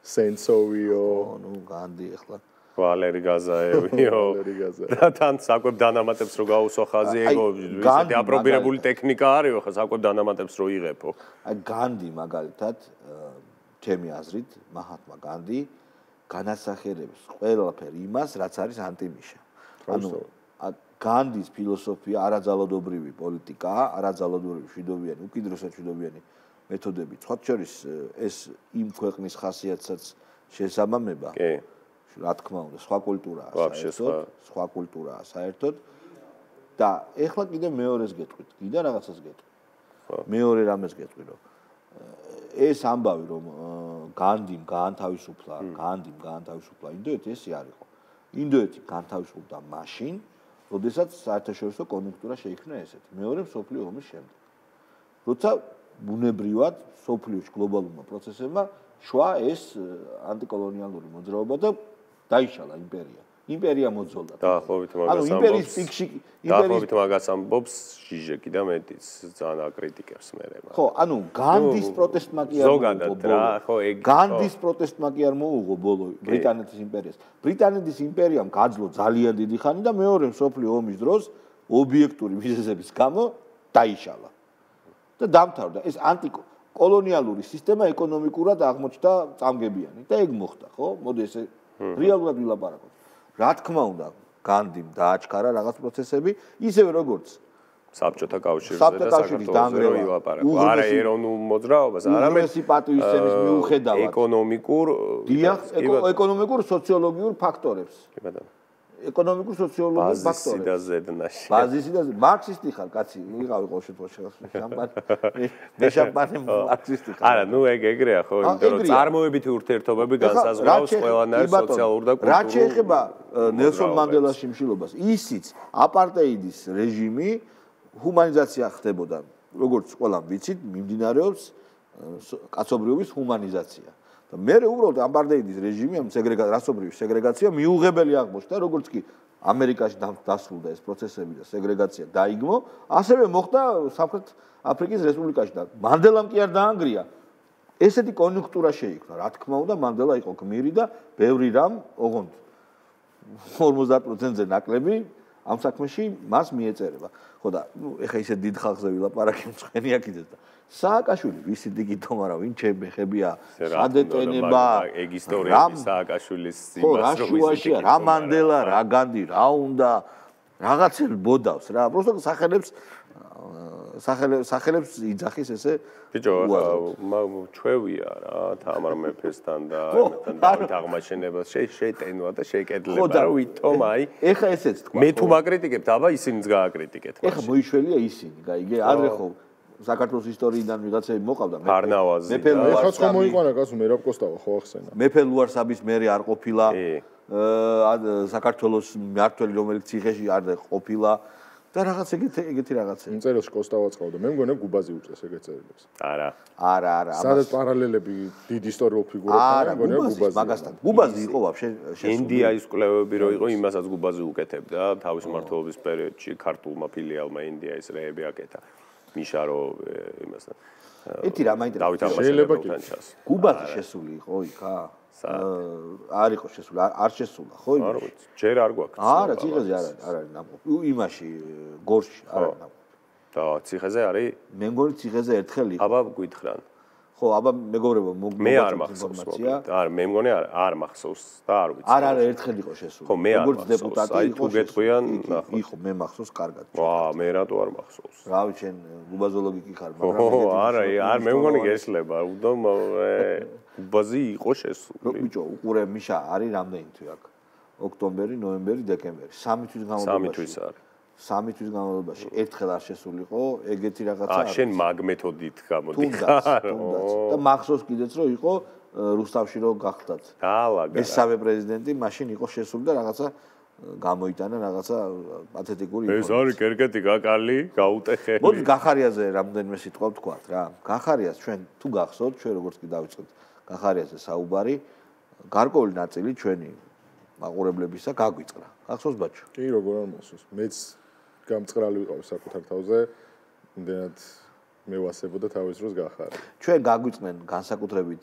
სენსოვიო, ნუ განდი ახლა ვალერი გაზაევიო. და თან საკვებ დანამატებს რო გაუსვა ხაზი ეგო, ისეთი აპრობირებული ტექნიკა არისო, ხა საკვებ დანამატებს რო იღებო. აი განდი მაგალითად, ჩემი აზრით, მაჰათმა განდი განასახიერებს ყველაფერ იმას, რაც არის ანტიმიშა. ანუ განდის ფილოსოფია არაძალადობრივი პოლიტიკაა, არაძალადობრივი მშვიდობიანი, უკიდურესად მშვიდობიანი მეთოდები. სხვა შორის ეს იმ ქვეყნის ხასიათსაც შესაბამება. კი. რა თქმა უნდა, სხვა კულტურაა საერთოდ, სხვა კულტურაა საერთოდ. და ეხლა კიდე მეორეს გეტყვით, კიდე რაღაცას გეტყვით. მეორე რამეს გეტყვით, რომ ეს ამბავი რომ განდიმ გაანთავისუფლა, განდიმ გაანთავისუფლა ინდოეთი ესე არ იყო. ინდოეთი გაანთავისუფლდა მაშინ, როდესაც საერთაშორისო კონjunktūra შეიქმნა ესეთი. მეორე მსოფლიო ომის შემდეგ. როცა ბუნებრივად სოფლიოში გლობალურმა პროცესებმა შვა ეს ანტიკოლონიალური მოძრაობა და დაიშალა იმპერია. იმპერია მოძოლდა. დაახლოებით მაგას ამბობს. ანუ იმპერიის პიკში დაახლოებით მაგას ამბობს ჟიჟეკი და მეტიც ძალიან აკრიტიკებს მერე. ხო, ანუ განდის პროტესტმა კი არ ზოგადად რა, ხო, ეგ განდის პროტესტმა კი არ მოუღო ბოლო ბრიტანეთის იმპერიას. ბრიტანეთის იმპერიამ გაძლო ძალიან დიდი ხანი და მეორე მსოფლიო ომის დროს ობიექტური მიზეზების გამო დაიშალა. და დამთავრდა ეს ანტიკოლონიალური სისტემა ეკონომიკურად აღმოჩნდა წამგებიანი და ეგ მოხდა ხო მოდი ესე რეალურად ვილაპარაკოთ რა თქმა უნდა, განდიმ დააჩქარა რაღაც პროცესები, ისევე როგორც საბჭოთა კავშირზე და საქართველოს ვილაპარაკო. არა ეროვნულ მოძრაობას, არამედ უღრესი პატივისცემის მიუხედავად ეკონომიკურ დიახ, ეკონომიკურ სოციოლოგიურ ფაქტორებს. კი ბატონო. ეკონომიკურ სოციოლოგიურ ფაქტორებს. ბაზისი და ზედნაში. ბაზისი და მარქსისტი ხარ, კაცი, ვიყავი ყოველ შემთხვევაში შამპანი. მე შამპანი მარქსისტი ხარ. არა, ნუ ეგ ეგრეა ხო, იმიტომ რომ წარმოებითი ურთიერთობები განსაზღვრავს ყველანაირ სოციალურ და კულტურულ. რაც შეეხება ნელსონ მანდელას შიმშილობას, ისიც აპარტეიდის რეჟიმი ჰუმანიზაცია ხდებოდა, როგორც ყველამ ვიცით, მიმდინარეობს კაცობრიობის ჰუმანიზაცია. და მე უბრალოდ აპარტეიდის რეჟიმი, ამ სეგრეგაცია, რასობრივი სეგრეგაცია მიუღებელი აღმოჩნდა, როგორც კი ამერიკაში დასრულდა ეს პროცესები და სეგრეგაცია დაიგმო, ასევე მოხდა სამხრეთ აფრიკის რესპუბლიკაში და მანდელამ კი არ დაანგრია. ესეთი კონიუნქტურა შეიქმნა, რა თქმა უნდა, მანდელა იყო გმირი და ბევრი რამ, ოღონდ ორმოცდაათ პროცენტზე ნაკლები ამ საქმეში მას მიეწერება. ხო და ნუ ეხა ისე დიდ ხალხზე ვილაპარაკე მწვენია კიდეც და სააკაშვილი ვისი დიგითო, მაგრამ ვინ ჩემებია სადეტენება ეგ ისტორიები სააკაშვილის იმას რო ვისაუბრეთ რა მანდელა რა განდი რა უნდა რაღაცელ ბოდავს რა просто სახელებს სახელებს სახელებს იძახის ესე ბიჭო ჩვევია რა თამარ მეფესთან და ამასთან დავით აღმაშენებას შეიტენვა და შეიკედლება რა ვითომ აი ეხა ესეც თქვა მე თუ მაკრიტიკებთ აბა ისინიც გააკრიტიკეთ ეხა მოიშველია ისინი გაიგე არ ხო საქართველოს ისტორიიდან ვიღაცები მოყავდა ფარნავაზი მეფე ეხაც ხომ მოიყვანა კაცო მერაბ კოსტავა ხო ახსენა მეფე ლუარსაბის მერე არ ყოფილა საქართველოს მმართველი რომელიც ციხეში არ ყოფილა და რაღაც ეგეთი ეგეთი რაღაცა. წერილში კოსტავაც ყავდა. მე მგონია გუბაზი უწეს ეგეთ წერილებს. არა. არა, არა. სადაც პარალელები დიდ ისტორიულ ფიგურებთან მგონია გუბაზი. მაგასთან. გუბაზი იყო ვაფშე შესული. ინდიაის კვლევები რო იყო, იმასაც გუბაზი უკეთებდა თავის მმართველობის პერიოდში ქართულმა ფილიალმა ინდიაის რეები აკეთა. მიშა რო იმასთან. ეთი რა მაინტერესებს. შეიძლება კი. გუბაზი შესული იყო იქა? არ იყო შესული, არ შესულა, ხო? არ ვიცი, ჯერ არ გვაქვს. არა, ციხეზე არ არის, არ არის ნამყოფი. იმაში გორში არ არის ნამყოფი. და ციხეზე არის? მე მგონი ციხეზე ერთხელ იყო. აბა გვითხრან. ხო, აბა მეგობრებო, მოგმოგვაწევთ ინფორმაცია. არ, მე მგონი არ არ მახსოვს და არ ვიცი. არ არა, ერთხელ იყო შესული. ხო, მე არ როგორც დეპუტატი იყო. თუ გეტყვიან, იყო, მე მახსოვს კარგად. ვა, მე რატო არ მახსოვს? რავი, შენ გუბაზოლოგი კი ხარ, მაგრამ ხო, არა, არ მე მგონი გესლება, უდომ გუბაზი იყო შესული. ბიჭო, უყურე მიშა, არის რამდენი თვე აქ? ოქტომბერი, ნოემბერი, დეკემბერი. სამი თვის განმავლობაში. სამი თვის არის. სამი თვის განმავლობაში ერთხელ არ შესულიყო ეგეთი რაღაცა. აა, შენ მაგ მეთოდით გამოდიხარ. და მახსოვს კიდეც რომ იყო რუსთავში რო გახდათ. დაალაგა. მესამე პრეზიდენტი მაშინ იყო შესული და რაღაცა გამოიტანა რაღაცა პათეტიკური ეს არის კერკეტი გაკალი, გაუტეხე. მოდი გახარიაზე რამდენიმე სიტყვა ვთქვათ რა. გახარიას ჩვენ თუ გახსოვთ, ჩვენ როგორც კი დავიწყეთ გახარიაზე საუბარი, გარკვეული ნაწილი ჩვენი მაყურებლებისა გაგვიწყდა. ახსოვს ბაჩო? კი, როგორ არ მოსვს. მეც გამწყრალი ვიყავი საკუთარ თავზე, იმდენად მევასებოდა თავის დროს გახარი. ჩვენ გაგვიწყდნენ განსაკუთრებით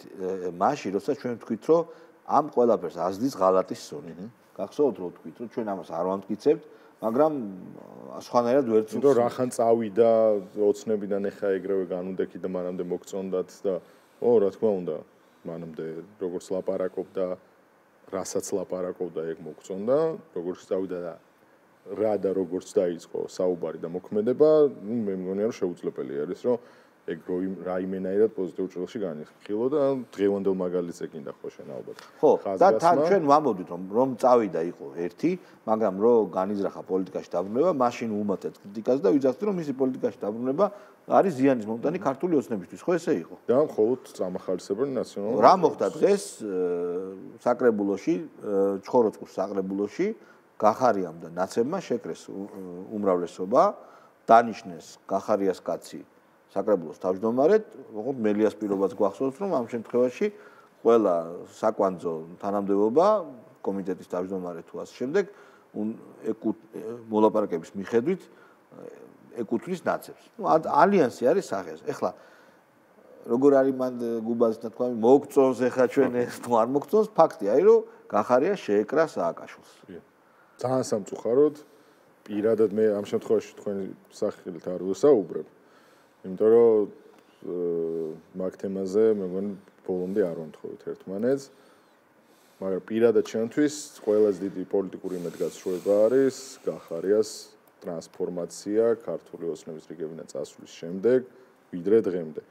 მაშინ, როცა ჩვენ ვთქვით, რომ ამ ყველაფერს ազდის ღალატის სუნი. გახსოვთ რომ ვთქვით, რომ ჩვენ ამას არ ვამტკიცებთ, მაგრამ სხვანაირად ვერ ვცნობთ. იმიტომ რახან წავიდა ოცნებიდან ეხა ეგრევე განუდექი და მანამდე მოგწონდათ და ო, რა თქმა უნდა, მანამდე როგორც ლაპარაკობდა, რასაც ლაპარაკობდა, ეგ მოგწონდა, როგორც წავიდა და რა და როგორც დაიწყო საუბარი და მოქმედება, ნუ მე მგონია რომ შეუძლებელი არის, რომ ეგ რაიმენაირად პოზიტიურ ჭრილში განიხილო და დღევანდელ მაგალითს ეკინდა ხო შენ ალბათ. ხო, და თან ჩვენ ვამბობთ რომ რომ წავიდა იყო ერთი, მაგრამ რომ განიზრახა პოლიტიკაში დაბრუნება, მაშინ უმატეთ კრიტიკას და ვიძახთ რომ მისი პოლიტიკაში დაბრუნება არის ზიანის მომტანი ქართული ოცნებისთვის, ხო ესე იყო? და მხოლოდ წამახალისებრი ნაციონალური. რა მოხდა დღეს საკრებულოში, ჩხოროწყუს საკრებულოში გახარიამ და ნაცებმა შეკრეს უმრავლესობა, დანიშნეს გახარიას კაცი საკრებულოს თავმჯდომარედ, ოღონდ მელიას პირობაც გვახსოვს, რომ ამ შემთხვევაში ყველა საკვანძო თანამდებობა კომიტეტის თავმჯდომარე თუ ასე შემდეგ მოლაპარაკების მიხედვით ეკუთვნის ნაცებს. ნუ ალიანსი არის სახეს. ეხლა როგორ არის მან გუბაზთა თქვა, მოგწონს ეხლა ჩვენ ეს თუ არ მოგწონს, ფაქტია, რომ გახარია შეეკრა სააკაშვილს. ძალიან სამწუხაროდ, პირადად მე ამ შემთხვევაში თქვენი სახელით არ ვსაუბრებ. იმიტომ რომ მაგ თემაზე მე მგონი ბოლომდე არ ვამთხოვით ერთმანეთს. მაგრამ პირადად ჩემთვის ყველაზე დიდი პოლიტიკური იმედგაცრუება არის გახარიას ტრანსფორმაცია ქართული ოცნების რიგებიდან წასვლის შემდეგ ვიდრე დღემდე.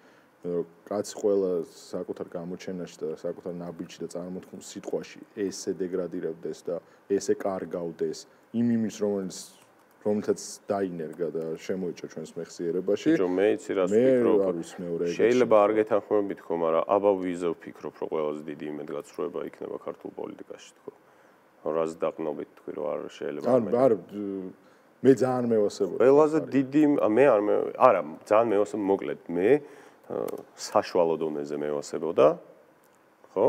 კაცი ყველა საკუთარ გამოჩენაში და საკუთარ ნაბიჯში და წარმოთქმულ სიტყვაში ესე დეგრადირებდეს და ესე კარგავდეს იმ იმის რომელიც რომელთაც დაინერგა და შემოიჭრა ჩვენს მეხსიერებაში. ბიჭო, მე იცი რას ვფიქრობ. შეიძლება არ გეთანხმებით ხო, მაგრამ აბა ვიზა ვფიქრობ, რომ ყველაზე დიდი იმედგაცრუება იქნება ქართულ პოლიტიკაში თქო. რას დაყნობით თქვი, რომ არ შეიძლება. არ არ მე ძალიან მევასებოდი. ყველაზე დიდი მე არ მე არა, ძალიან მევასებოდი, მოკლედ მე საშუალო დონეზე მევასებოდა, ხო?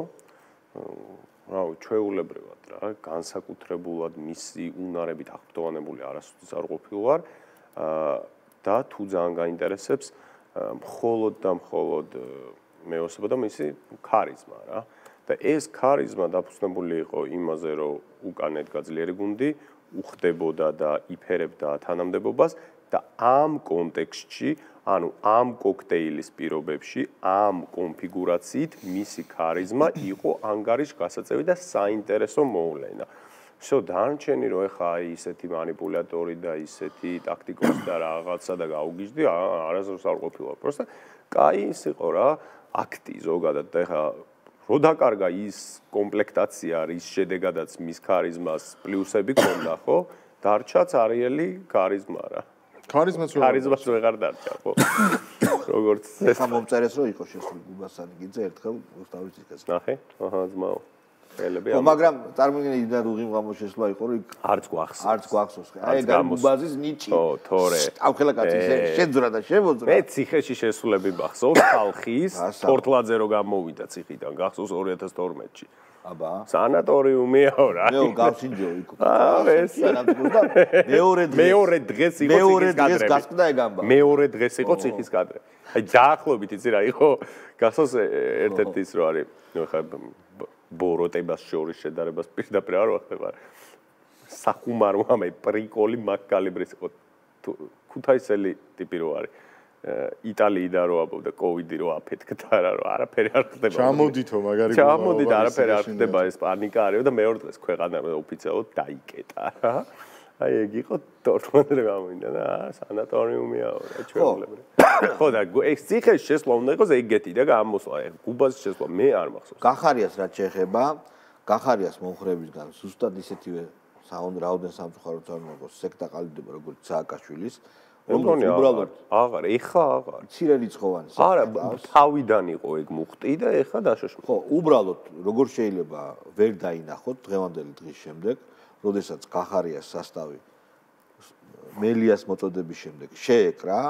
რავი, ჩვეულებრივად რა, განსაკუთრებულად მისი უნარებით აღფრთოვანებული არასოდეს არ ყოფილვარ და თუ ძალიან გაინტერესებს მხოლოდ და მხოლოდ მევასებოდა მისი ქარიზმა რა. და ეს ქარიზმა დაფუძნებული იყო იმაზე, რომ უკან ედგა ძლიერი გუნდი, უხდებოდა და იფერებდა თანამდებობას და ამ კონტექსტში, ანუ ამ კოქტეილის პირობებში, ამ კონფიგურაციით მისი ქარიზმა იყო ანგარიშ გასაწევი და საინტერესო მოვლენა. всё, დანარჩენი რომ ეხა აი ისეთი манипуляტორი და ისეთი ტაქტიკოსი და რაღაცა და გაუგიჟდი, არასდროს არ ყოფილა. просто კაი ის იყო რა, აქტი ზოგადად და ეხა რო დაკარგა ის კომპლექტაცია, რის შედეგადაც მის ქარიზმას პლუსები ქონდა, ხო? დარჩა წარიელი ქარიზმა რა. ქარიზმაც რო ქარიზმაც ვეღარ დარჩა, ხო? როგორც ეს მომწერეს რომ იყო შესული გუბასანი გიძე ერთხელ რუსთავის ციხეს. ნახე? აჰა, ძმაო. ხელები ხო, მაგრამ წარმოგიდგენთ და რუღი მღამო შესვლა იყო რომ არც გვახსოვს. არც გვახსოვს. აი გუბაზის ნიჭი. ხო, თორე. ავხელა კაცი შეძრა და შემოძრა. მე ციხეში შესულები მახსოვს ხალხის პორტლაძე რო გამოვიდა ციხიდან, გახსოვს ორი ათას თორმეტში. აბა. სანატორიუმიაო რა. მე გავსინჯო იქ. აა, ეს მეორე დღეს. მეორე დღეს იყო ციხის კადრები. მეორე დღეს გასკდა ეგ ამბავი. მეორე დღეს იყო ციხის კადრები. აი დაახლოებით იცი რა იყო? გახსოვს ერთ-ერთი ის რო არის, ნუ ხა ბოროტებას შორის შედარებას პირდაპირ არ ვახდება. სახუმარო ამე პრიკოლი მაგკალიბრის იყო. ქუთაისელი ტიპი რო არის. იტალიიდან რო აბობდა კოვიდი რო აფეთქდა რა რო არაფერი არ ხდება. ჩამოდითო მაგარი ჩამოდით არაფერი არ ხდება ეს პანიკა არის და მეორე დღეს ქვეყანა ოფიციალურად დაიკეტა რა. აი ეგ იყო თორმეტე გამოვიდა და სანატორიუმიაო რა ჩვეულებრივ. ხო და ეს ციხეს შესვლა უნდა იყოს ეგეთი და გამოსვლა გუბაზის შესვლა მე არ მახსოვს. გახარიას რაც შეეხება, გახარიას მომხრებისგან ზუსტად ისეთივე რაოდენ სამწუხაროდ წარმოგვიდგოს სექტა ყალიბდება როგორც სააკაშვილის. უბრალოდ აღარ, ეხა აღარ. მცირე რიცხოვანი. არა, თავიდან იყო ეგ მუხტი და ეხა დაშოშმა. ხო, უბრალოდ როგორ შეიძლება ვერ დაინახოთ დღევანდელი დღის შემდეგ, როდესაც გახარიას სასტავი მელიას მოწოდების შემდეგ შეეკრა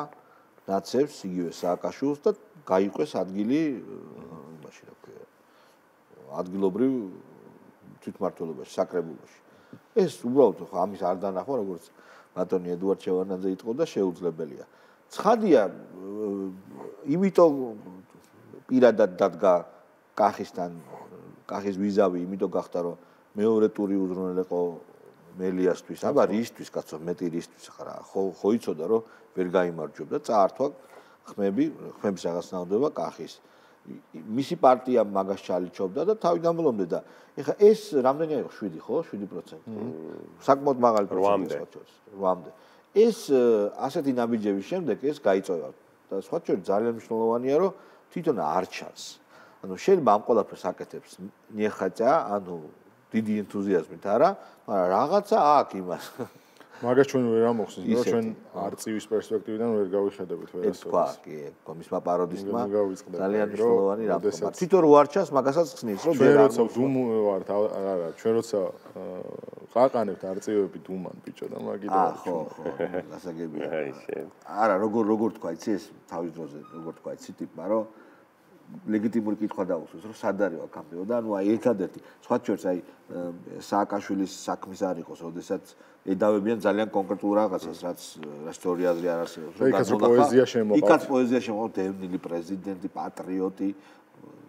ნაცებს იგივე სააკაშვილს და გაიყვეს ადგილი იმაში რა ქვია. ადგილობრივ თვითმმართველობაში, საკრებულოში. ეს უბრალოდ ხო ამის არ დანახვა როგორც ბატონი ედუარდ შევარდნაძე იტყოდა და შეუძლებელია. ცხადია, იმიტომ პირადად დადგა კახისთან, კახის ვიზავი, იმიტომ გახდა რომ მეორე ტური უზრუნველყო მელიასთვის, აბა რისთვის კაცო, მეტი რისთვის ხარა, ხო ხო იცოდა რომ ვერ გაიმარჯვებდა, წაართვა ხმები, ხმების რაღაცნაირობა კახის. მისი პარტია მაგას ჩალიჩობდა და თავიდან ბოლომდე და ეხა ეს რამდენი იყო შვიდი ხო შვიდი პროცენტი საკმაოდ მაღალი პროცენტია რვამდე ეს ასეთი ნაბიჯების შემდეგ ეს გაიწევა და სხვა შორის ძალიან მნიშვნელოვანია რომ თვითონ არ ჩანს ანუ შეიძლება ამ ყველაფერს აკეთებს ნიეხაჭა ანუ დიდი ენთუზიაზმით არა მაგრამ რაღაცა აქვს იმას მაგას ჩვენ ვერ ამოხსნით რომ ჩვენ არწივის პერსპექტივიდან ვერ გავიხედებით ვერასოდეს. ეს თქვა კი, კომისმა პაროდისტმა ძალიან მნიშვნელოვანი რამ თქვა. თვითონ რო არ ჩანს მაგასაც ხსნის რომ ვერ როცა დუმ ვართ არა ჩვენ როცა ყაყანებთ არწივები დუმან ბიჭო და მაგით აა ხო ხო გასაგებია. არა როგორ როგორ თქვა იცი ეს თავის დროზე როგორ თქვა იცი ტიპმა რომ ლეგიტიმური კითხვა დაუსვეს რომ სად არის აქამდეო და ანუ აი ერთადერთი სხვა შორის აი სააკაშვილის საქმის არ იყოს როდესაც ედავებიან ძალიან კონკრეტულ რაღაცას რაც ისტორია აზრი არ არსებობს რომ პოეზია შემოყავთ იქაც პოეზია შემოყავთ დევნილი პრეზიდენტი პატრიოტი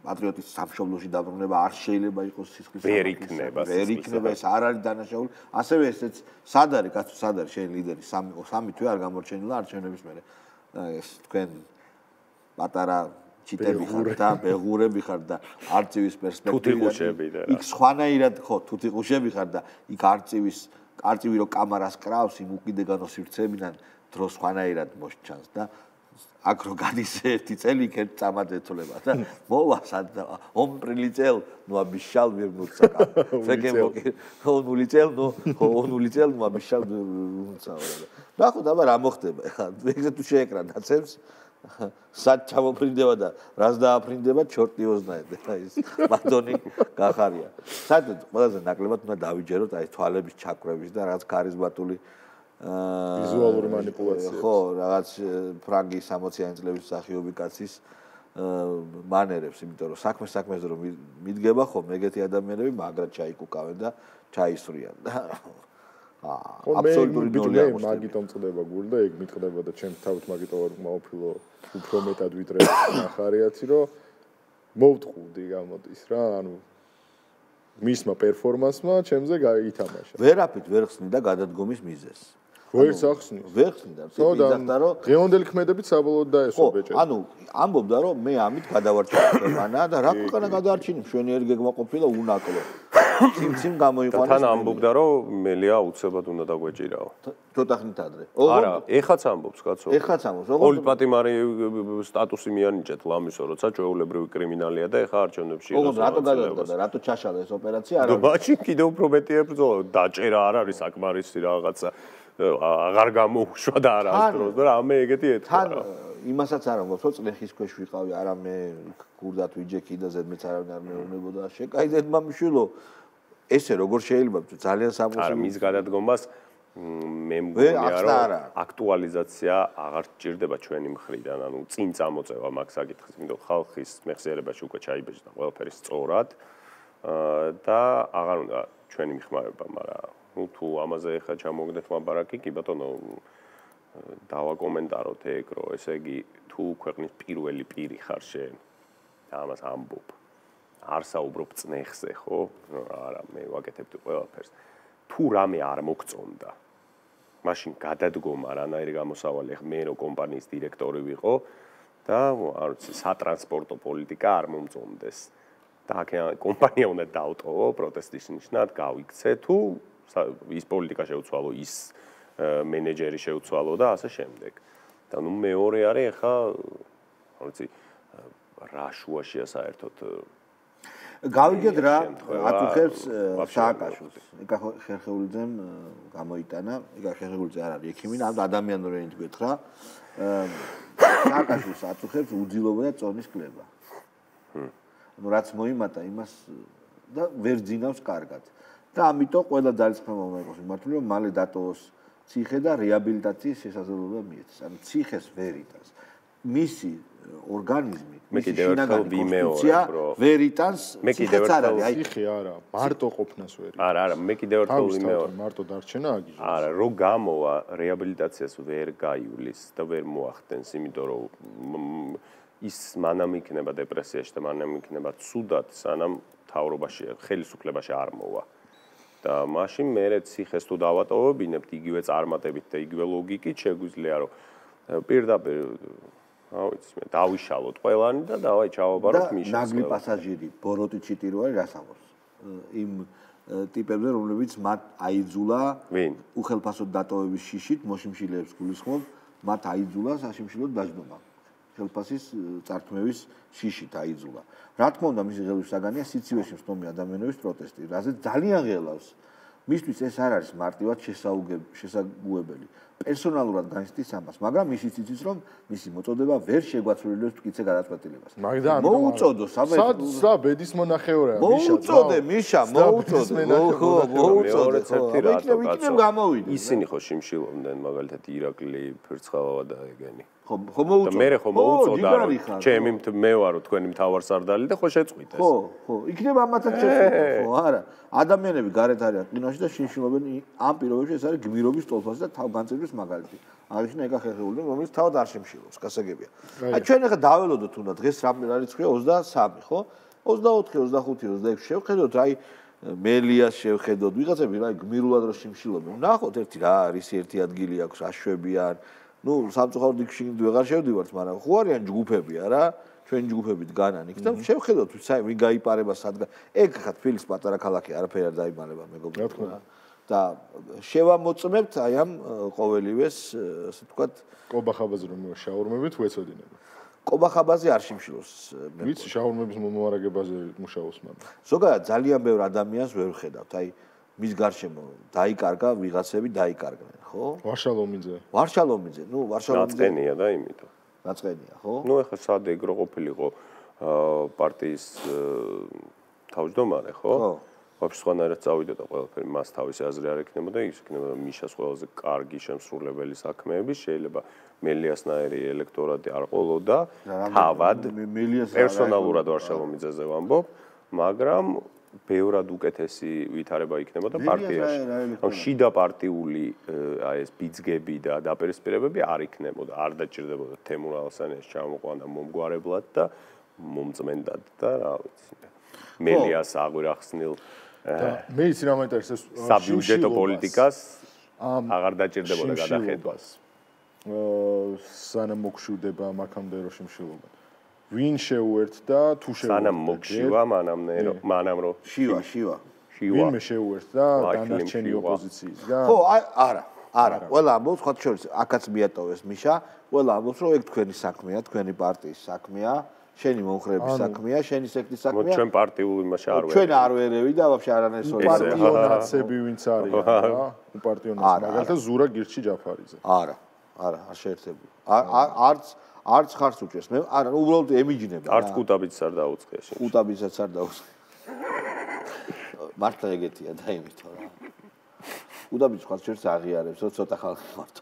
პატრიოტის სამშობლოში დაბრუნება არ შეიძლება იყოს სისხლის ვერ იქნება ვერ იქნება ეს არ არის დანაშაული ასევე ესეც სად არის კაცო სად არის შენ ლიდერი სამი სამი თვე არ გამორჩენილა არჩევნების მერე ეს თქვენ პატარა ჩიტები ხარ და ბეღურები ხარ და არწივის პერსპექტივიდან თუთიყუშები და იქ სხვანაირად ხო თუთიყუშები ხარ და იქ არწივის არწივი რო კამარას კრავს იმ უკიდეგანო სივრცეებიდან დრო სხვანაირად მოსჩანს და აქ რო გადის ერთი წელი იქ ერთ წამად ეცოლება და მოვა სად он прилетел ну обещал вернуться фекем он улетел ну он улетел ну обещал вернуться და ხო და რა მოხდება ეხლა ეგრე თუ შეეკრა დაცემს სად ჩამოფრინდება და რას დააფრინდება ჩორტიოს ნაედი აი ეს მადონი გახარია საერთოდ ყველაზე ნაკლებად უნდა დავიჯეროთ აი თვალების ჩაკვრების და რაც ქარიზმატული ვიზუალური манипуляციები ხო რაღაც ფრანგი სამოციანი წლების მსახიობი კაცის მანერებს იმიტომ რომ საქმე საქმეზე რომ მიდგება ხო ეგეთი ადამიანები მაგრად ჩაიკუკავენ და ჩაისვრიან და აბსოლუტური ნოლია მაგიტომ წდება გული და ეგ მიტყდება და ჩემ თავით მაგიტომ არ მოვფილო უფრო მეტად ვიდრე ახარიაცი რომ მოვტყუდი გამოდის რა ანუ მისმა პერფორმანსმა ჩემზე გაითამაშა ვერაფრით ვერ ხსნიდა გადადგომის მიზეზს ვერ სახსნის ვერ ხსნიდა თვითონ რომ დღევანდელი ქმედებით საბოლოოდ დაესვა ბეჭედი ანუ ამბობდა რომ მე ამით გადავარჩინე ქვეყანა და რა ქვეყანა გადაარჩინე მშვენიერი გეგმა ყოფილა უნაკლო ციმციმ გამოიყვანეს თან ამბობდა რომ მელია აუცილებლად უნდა დაგვეჭირაო ცოტა ხნით ადრე არა ეხაც ამბობს კაცო ეხაც ამბობს პოლიტპატიმარი სტატუსი მიანიჭეთ ლამისო როცა ჩვეულებრივი კრიმინალია და ეხა არჩევნებში ოღონდ რატო გადავიდა და რატო ჩაშალა ეს ოპერაცია არა მაშინ კიდევ უფრო მეტი ებრძოლა დაჭერა არ არის საკმარისი რაღაცა აღარ გამოუშვა და არა ამ დროს და რამე ეგეთი ეთქვა თან იმასაც არ ამბობს რომ წლეხის ქვეშ ვიყავი არა მე გურდათ ვიჯექი და ზედმეც არავინ არ მეუბნებოდა შეკაიდეთ მამიშვილო ესე როგორ შეიძლება ძალიან სამყარო არა მის გადადგომას მე მგონია რომ აქტუალიზაცია აღარ ჭირდება ჩვენი მხრიდან ანუ წინ წამოწევა მაგ საკითხის იმიტომ ხალხის მეხსიერებაში უკვე ჩაიბეჭდა ყველაფერი სწორად და აღარ უნდა ჩვენი მიხმარება მაგრამ ну თუ ამაზე ხა ჩამოგდეთ ლაბარაკი კი ბატონო დავაკომენტაროთ ეგ რომ ესე იგი თუ ქვეყნის პირველი პირი ხარ შენ და ამას ამბობ არ საუბრობ წნეხზე ხო არა მე ვაკეთებ ყველაფერს თუ რამე არ მოგწონდა მაშინ გადადგომა რანაირი გამოსავალი ხა მე რო კომპანიის დირექტორი ვიყო და არ ვიცი სატრანსპორტო პოლიტიკა არ მომწონდეს და კომპანია უნდა დაუტოვო პროტესტის ნიშნად გავიქცე თუ ის პოლიტიკა შეუცვალო ის მენეჯერი შეუცვალო და ასე შემდეგ და ნუ მეორე არის ხა არ ვიცი რა შუაშია საერთოდ გავიგეთ რა აწუხებს სააკაშვილს ეკა ხერხეულიძემ გამოიტანა ეკა ხერხეულიძე არ არის ექიმი ამ ადამიანური ენით გეთხრა სააკაშვილს აწუხებს უძილობა და წონის კლება ну რაც მოიმატა იმას და ვერ ძინავს კარგად და ამიტომ ყველა ძალისხმევა უნდა იყოს მიმართული რომ მალე დატოვოს ციხე და რეაბილიტაციის შესაძლებლობა მიეცეს ანუ ციხეს ვერ იტანს მისი ორგანიზმი მისი შინაგანი კონსტიტუცია ვერ იტანს ციხეც არ არის აი ციხე არა მარტო ყოფნას ვერ არა არა მე კიდევ ერთხელ ვიმეორე მარტო დარჩენა აგიჟოს არა რო გამოვა რეაბილიტაციას ვერ გაივლის და ვერ მოახდენს იმიტომ რომ ის მანამ იქნება დეპრესიაში და მანამ იქნება ცუდად სანამ თავრობაში ხელისუფლებაში არ მოვა და მაშინ მე ციხეს თუ დავატოვებინებთ იგივე წარმატებით და იგივე ლოგიკით შეგვიძლია რომ პირდაპირ რა ვიცი მე დავიშალოთ ყველანი და დავაი ჩავაბაროთ მიშას ნაგლი პასაჟირი ბოროტი ჩიტიროა რას ამბობს იმ ტიპებზე რომლებიც მათ აიძულა უხელფასოდ დატოვების შიშით მოშიმშილეებს გულისხმობ მათ აიძულა საშიმშილოდ დაждობა ხელფასის წართმევის შიშით აიძულა. რა თქმა უნდა, მისი ღელვის საგანია სიცივეში მსტომი ადამიანების პროტესტი, რაზეც ძალიან ღელავს. მისთვის ეს არ არის მარტივად შესაძლებელი. პერსონალურად განიცდის ამას, მაგრამ ისიც იცის, რომ მისი მოწოდება ვერ შეგვაცვლილებს მტკიცე გადაწყვეტილებას. მოუწოდო საბედ სა ბედის მონახევრაა მიშა. მოუწოდე მიშა, მოუწოდე. ხო, მოუწოდე. იქნებ გამოვიდნენ. ისინი ხო შიმშილობდნენ მაგალითად ირაკლი, ფერცხალავა და ეგენი. ხო, ხო მოუწოდე. მე ხო მოუწოდა რომ ჩემი მე ვარო თქვენი მთავარსარდალი და ხო შეწყვიტეს. ხო, ხო, იქნებ ამათაც შეწყვიტეს, ხო, არა. ადამიანები გარეთ არიან ყინაში და შიმშილობენ ამ პირობებში ეს არის გმირობის ტოლფასი და თავგანწირვის მაგალითი. აღნიშნა ეკა ხერხეული, რომელიც თავად არ შემშილობს, გასაგებია. აი ჩვენ ახლა დაველოდოთ უნდა დღეს რამე რიცხვია ოცდასამი, ხო? ოცდაოთხი, ოცდახუთი, ოცდაექვსი შევხედოთ, აი მელიას შევხედოთ, ვიღაცები რა გმირულად რო შემშილობენ. ნახოთ ერთი რა არის, ერთი ადგილი აქვს, აშვებიან. ნუ სამწუხაროდ იქ შიგნით ვეღარ შევდივართ, მაგრამ ხო არიან ჯგუფები არა? ჩვენ ჯგუფებით განან იქ და შევხედოთ ვინ გაიპარება სადგა. ეგ ხა თბილისის პატარა ქალაქი არაფერი არ დაიმალება მეგობრებო. და შევამოწმებთ აი ამ ყოველივეს ასე ვთქვათ კობახაბაზე რომ შაურმებით ვეცოდინები. კობახაბაზე არ შიმშილოს. ვიცი შაურმების მომარაგებაზე მუშაობს მაგრამ. ზოგადად ძალიან ბევრ ადამიანს ვერ ვხედავთ. აი მის გარშემო დაიკარგა ვიღაცები დაიკარგნენ, ხო? ვარშალომიძე. ვარშალომიძე, ნუ ვარშალომიძე. ნაწყენია და იმიტომ. ნაწყენია, ხო? ნუ ეხლა სად ეგრო ყოფილიყო პარტიის თავმჯდომარე, ხო? ხო. ვაფშე სხვანაირად წავიდა და ყველაფერი მას თავისი აზრი არ ექნებოდა, ის ექნებოდა მიშას ყველაზე კარგი შემსრულებელი საქმეები, შეიძლება მელიასნაირი ელექტორატი არ ყოლოდა, თავად პერსონალურად ვარშალომიძეზე ვამბობ, მაგრამ ბევრად უკეთესი ვითარება იქნებოდა პარტიაში. ან შიდა პარტიული აი ეს ბიძგები და დაპირისპირებები არ იქნებოდა, არ დაჭირდებოდა თემურ ალსანიას ჩამოყვანა მომგვარებლად და მომწმენდად და რა ვიცი. მელიას აღვირახსნილ მე იცი რა მაინტერესებს საბიუჯეტო პოლიტიკას აღარ დაჭირდებოდა გადახედვას. სანამ მოგშვდება მაქამდე რო შიმშილობა. ვინ შეუერთდა თუ შეუერთდა? სანამ მოგშივა, მანამდე რო მანამ რო შივა, შივა. შივა. ვინმე შეუერთდა დანარჩენი ოპოზიციისგან? ხო, არა, არა. ყველა ამბობს, ხოთ შორის აქაც მიატოვეს მიშა, ყველა ამბობს, რომ ეგ თქვენი საქმეა, თქვენი პარტიის საქმეა. შენი მომხრეების საქმეა, შენი სექტის საქმეა. ჩვენ პარტიულ იმაში არ ვერევი. ჩვენ არ ვერევი და ვაფშე არანაირ სოლიარული. პარტიონაცები ვინც არის რა? უპარტიონაცები. მაგალითად ზურა გირჩი ჯაფარიძე. არა, არა, არ შეერთებული. არც არც ხარს უჭერს. მე არა, უბრალოდ ემიჯნება. არც კუტაბიც არ დაუწყია შენ. კუტაბიცაც არ დაუწყია. მართლა ეგეთია და იმითო რა. კუტაბიც ხარს შერს აღიარებს, ცოტა ხალხი მარტო.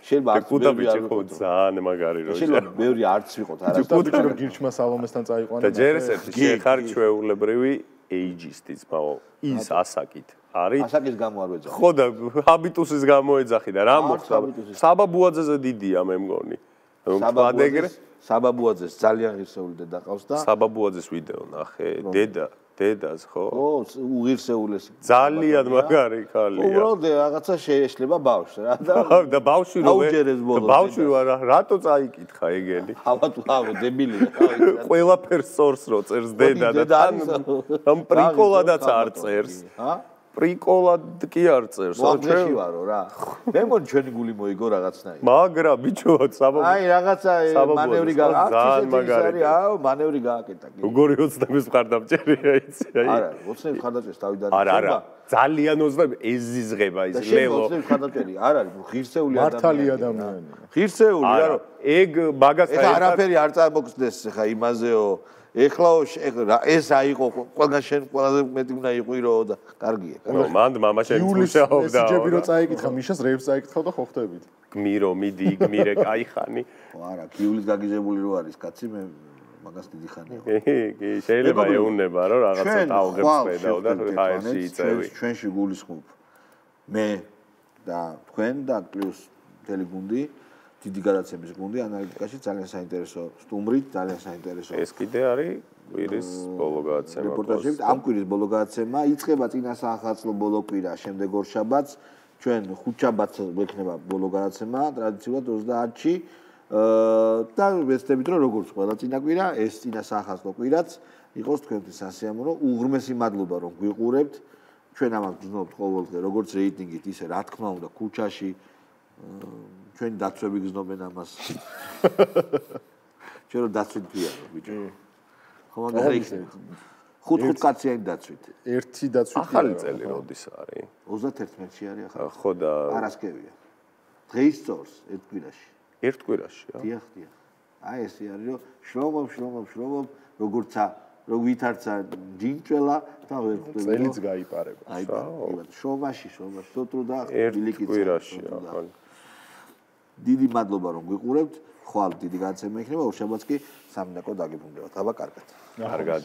შეიძლება არც კუტაბიჩი ხო ძალიან მაგარი რო შეიძლება ბევრი არც ვიყოთ არა კუტაბიჩი რო გირჩმა სალომესთან წაიყვანა და ჯერ ესეთი შეხარ ჩვეულებრივი ეიჯისტიც მაო ის ასაკით არის ასაკის გამო არ ვეძახი ხო და ჰაბიტუსის გამო ეძახი და რა მოხდა საბაბუაძეზე დიდია მე მგონი საბაბუაძეს საბაბუაძეს ძალიან ღირსეული დედა ყავს და საბაბუაძეს ვიდეო ნახე დედა დედას ხო? ხო, უღირსეულეს. ძალიან მაგარი ხალია. უბრალოდ რაღაცა შეეშლება ბავშვს რა და და ბავშვი რო ბავშვი რატო წაიკითხა ეგენი? ავატ ავე დებილია. ყველაფერს სორს რო წერს დედა და თან ამ პრიკოლადაც არ წერს. ჰა? პრიკოლად კი არ წერს. ვაგეში ვარო რა. მე მგონი ჩვენი გული მოიგო რაღაცნაირად. მაგრა ბიჭო, საბაბო. აი რაღაცა მანევრი გააკეთა. აუ, მანევრი გააკეთა. როგორი ოცნების მხარდამჭერია იცი, აი. არა, ოცნების მხარდამჭერს თავიდან არა, არა. ძალიან ოცნები ეზიზღება ის ლელო. ოცნების მხარდამჭერი არ არის, ღირსეული ადამიანი. მართალი ადამიანი. ღირსეული, არა. ეგ მაგას ეხა არაფერი არ წარმოგხდეს ხა იმაზეო. ეხლა ეს აიყო ყველგან შენ ყველაზე მეტი უნდა იყვირო და კარგია. ნუ მანდ მამა შენ მუშაობდა. ესიჯები რო წაიკითხა მიშას რეებს წაიკითხავ და ხო ხდებით. გმირო, მიდი, გმირე, კაი ხანი. არა, კიულის გაგიზებული რო არის კაცი მე მაგას დიდი ხანია. კი, შეიძლება ეუნება რომ რაღაცა ტალღებს ხედავ და ხაერში იწევი. ჩვენში გულისხმობ მე და თქვენ და პლუს ტელეგუნდი დიდი გადაცემის გუნდი ანალიტიკაში ძალიან საინტერესო სტუმრით, ძალიან საინტერესო. ეს კიდე არის კვირის ბოლო გადაცემა. რეპორტაჟებით ამ კვირის ბოლო გადაცემა იწყება წინა საახალწლო ბოლო კვირა, შემდეგ ორშაბათს, ჩვენ ხუთშაბათს გვექნება ბოლო გადაცემა, ტრადიციულად ოცდაათში. და ვეცდებით რომ როგორც ყველა წინა კვირა, ეს წინა საახალწლო კვირაც იყოს თქვენთვის სასიამოვნო. უღრმესი მადლობა რომ გვიყურებთ. ჩვენ ამას გრძნობთ ყოველდღე, როგორც რეიტინგით, ისე რა თქმა უნდა ქუჩაში ჩვენი დაცვები გზნობენ ამას. ჩვენ რომ დაცვით ვიარო, ბიჭო. ხო, მაგარი იქნება. ხუთ-ხუთ კაციანი დაცვით. ერთი დაცვით. ახალი წელი როდის არის? ოცდაათი მეში არის ახალი. ხო და არასკევია. დღის წორს ერთ კვირაში. ერთ კვირაში, რა? დიახ, დიახ. აი ესე არის, რომ შრომობ, შრომობ, შრომობ, როგორცა, რო ვითარცა ჯინჭველა და ვერ ხვდები. წელიც გაიპარება. აი, შრომაში, შრომაში, სოტრუ და ბილიკიც. ერთ კვირაში, ახალი. დიდი მადლობა რომ გვიყურებთ. ხვალ დიდი გადაცემა იქნება, ორშაბათს კი სამი დაკო დაგიბრუნდებათ. აბა კარგად. კარგად.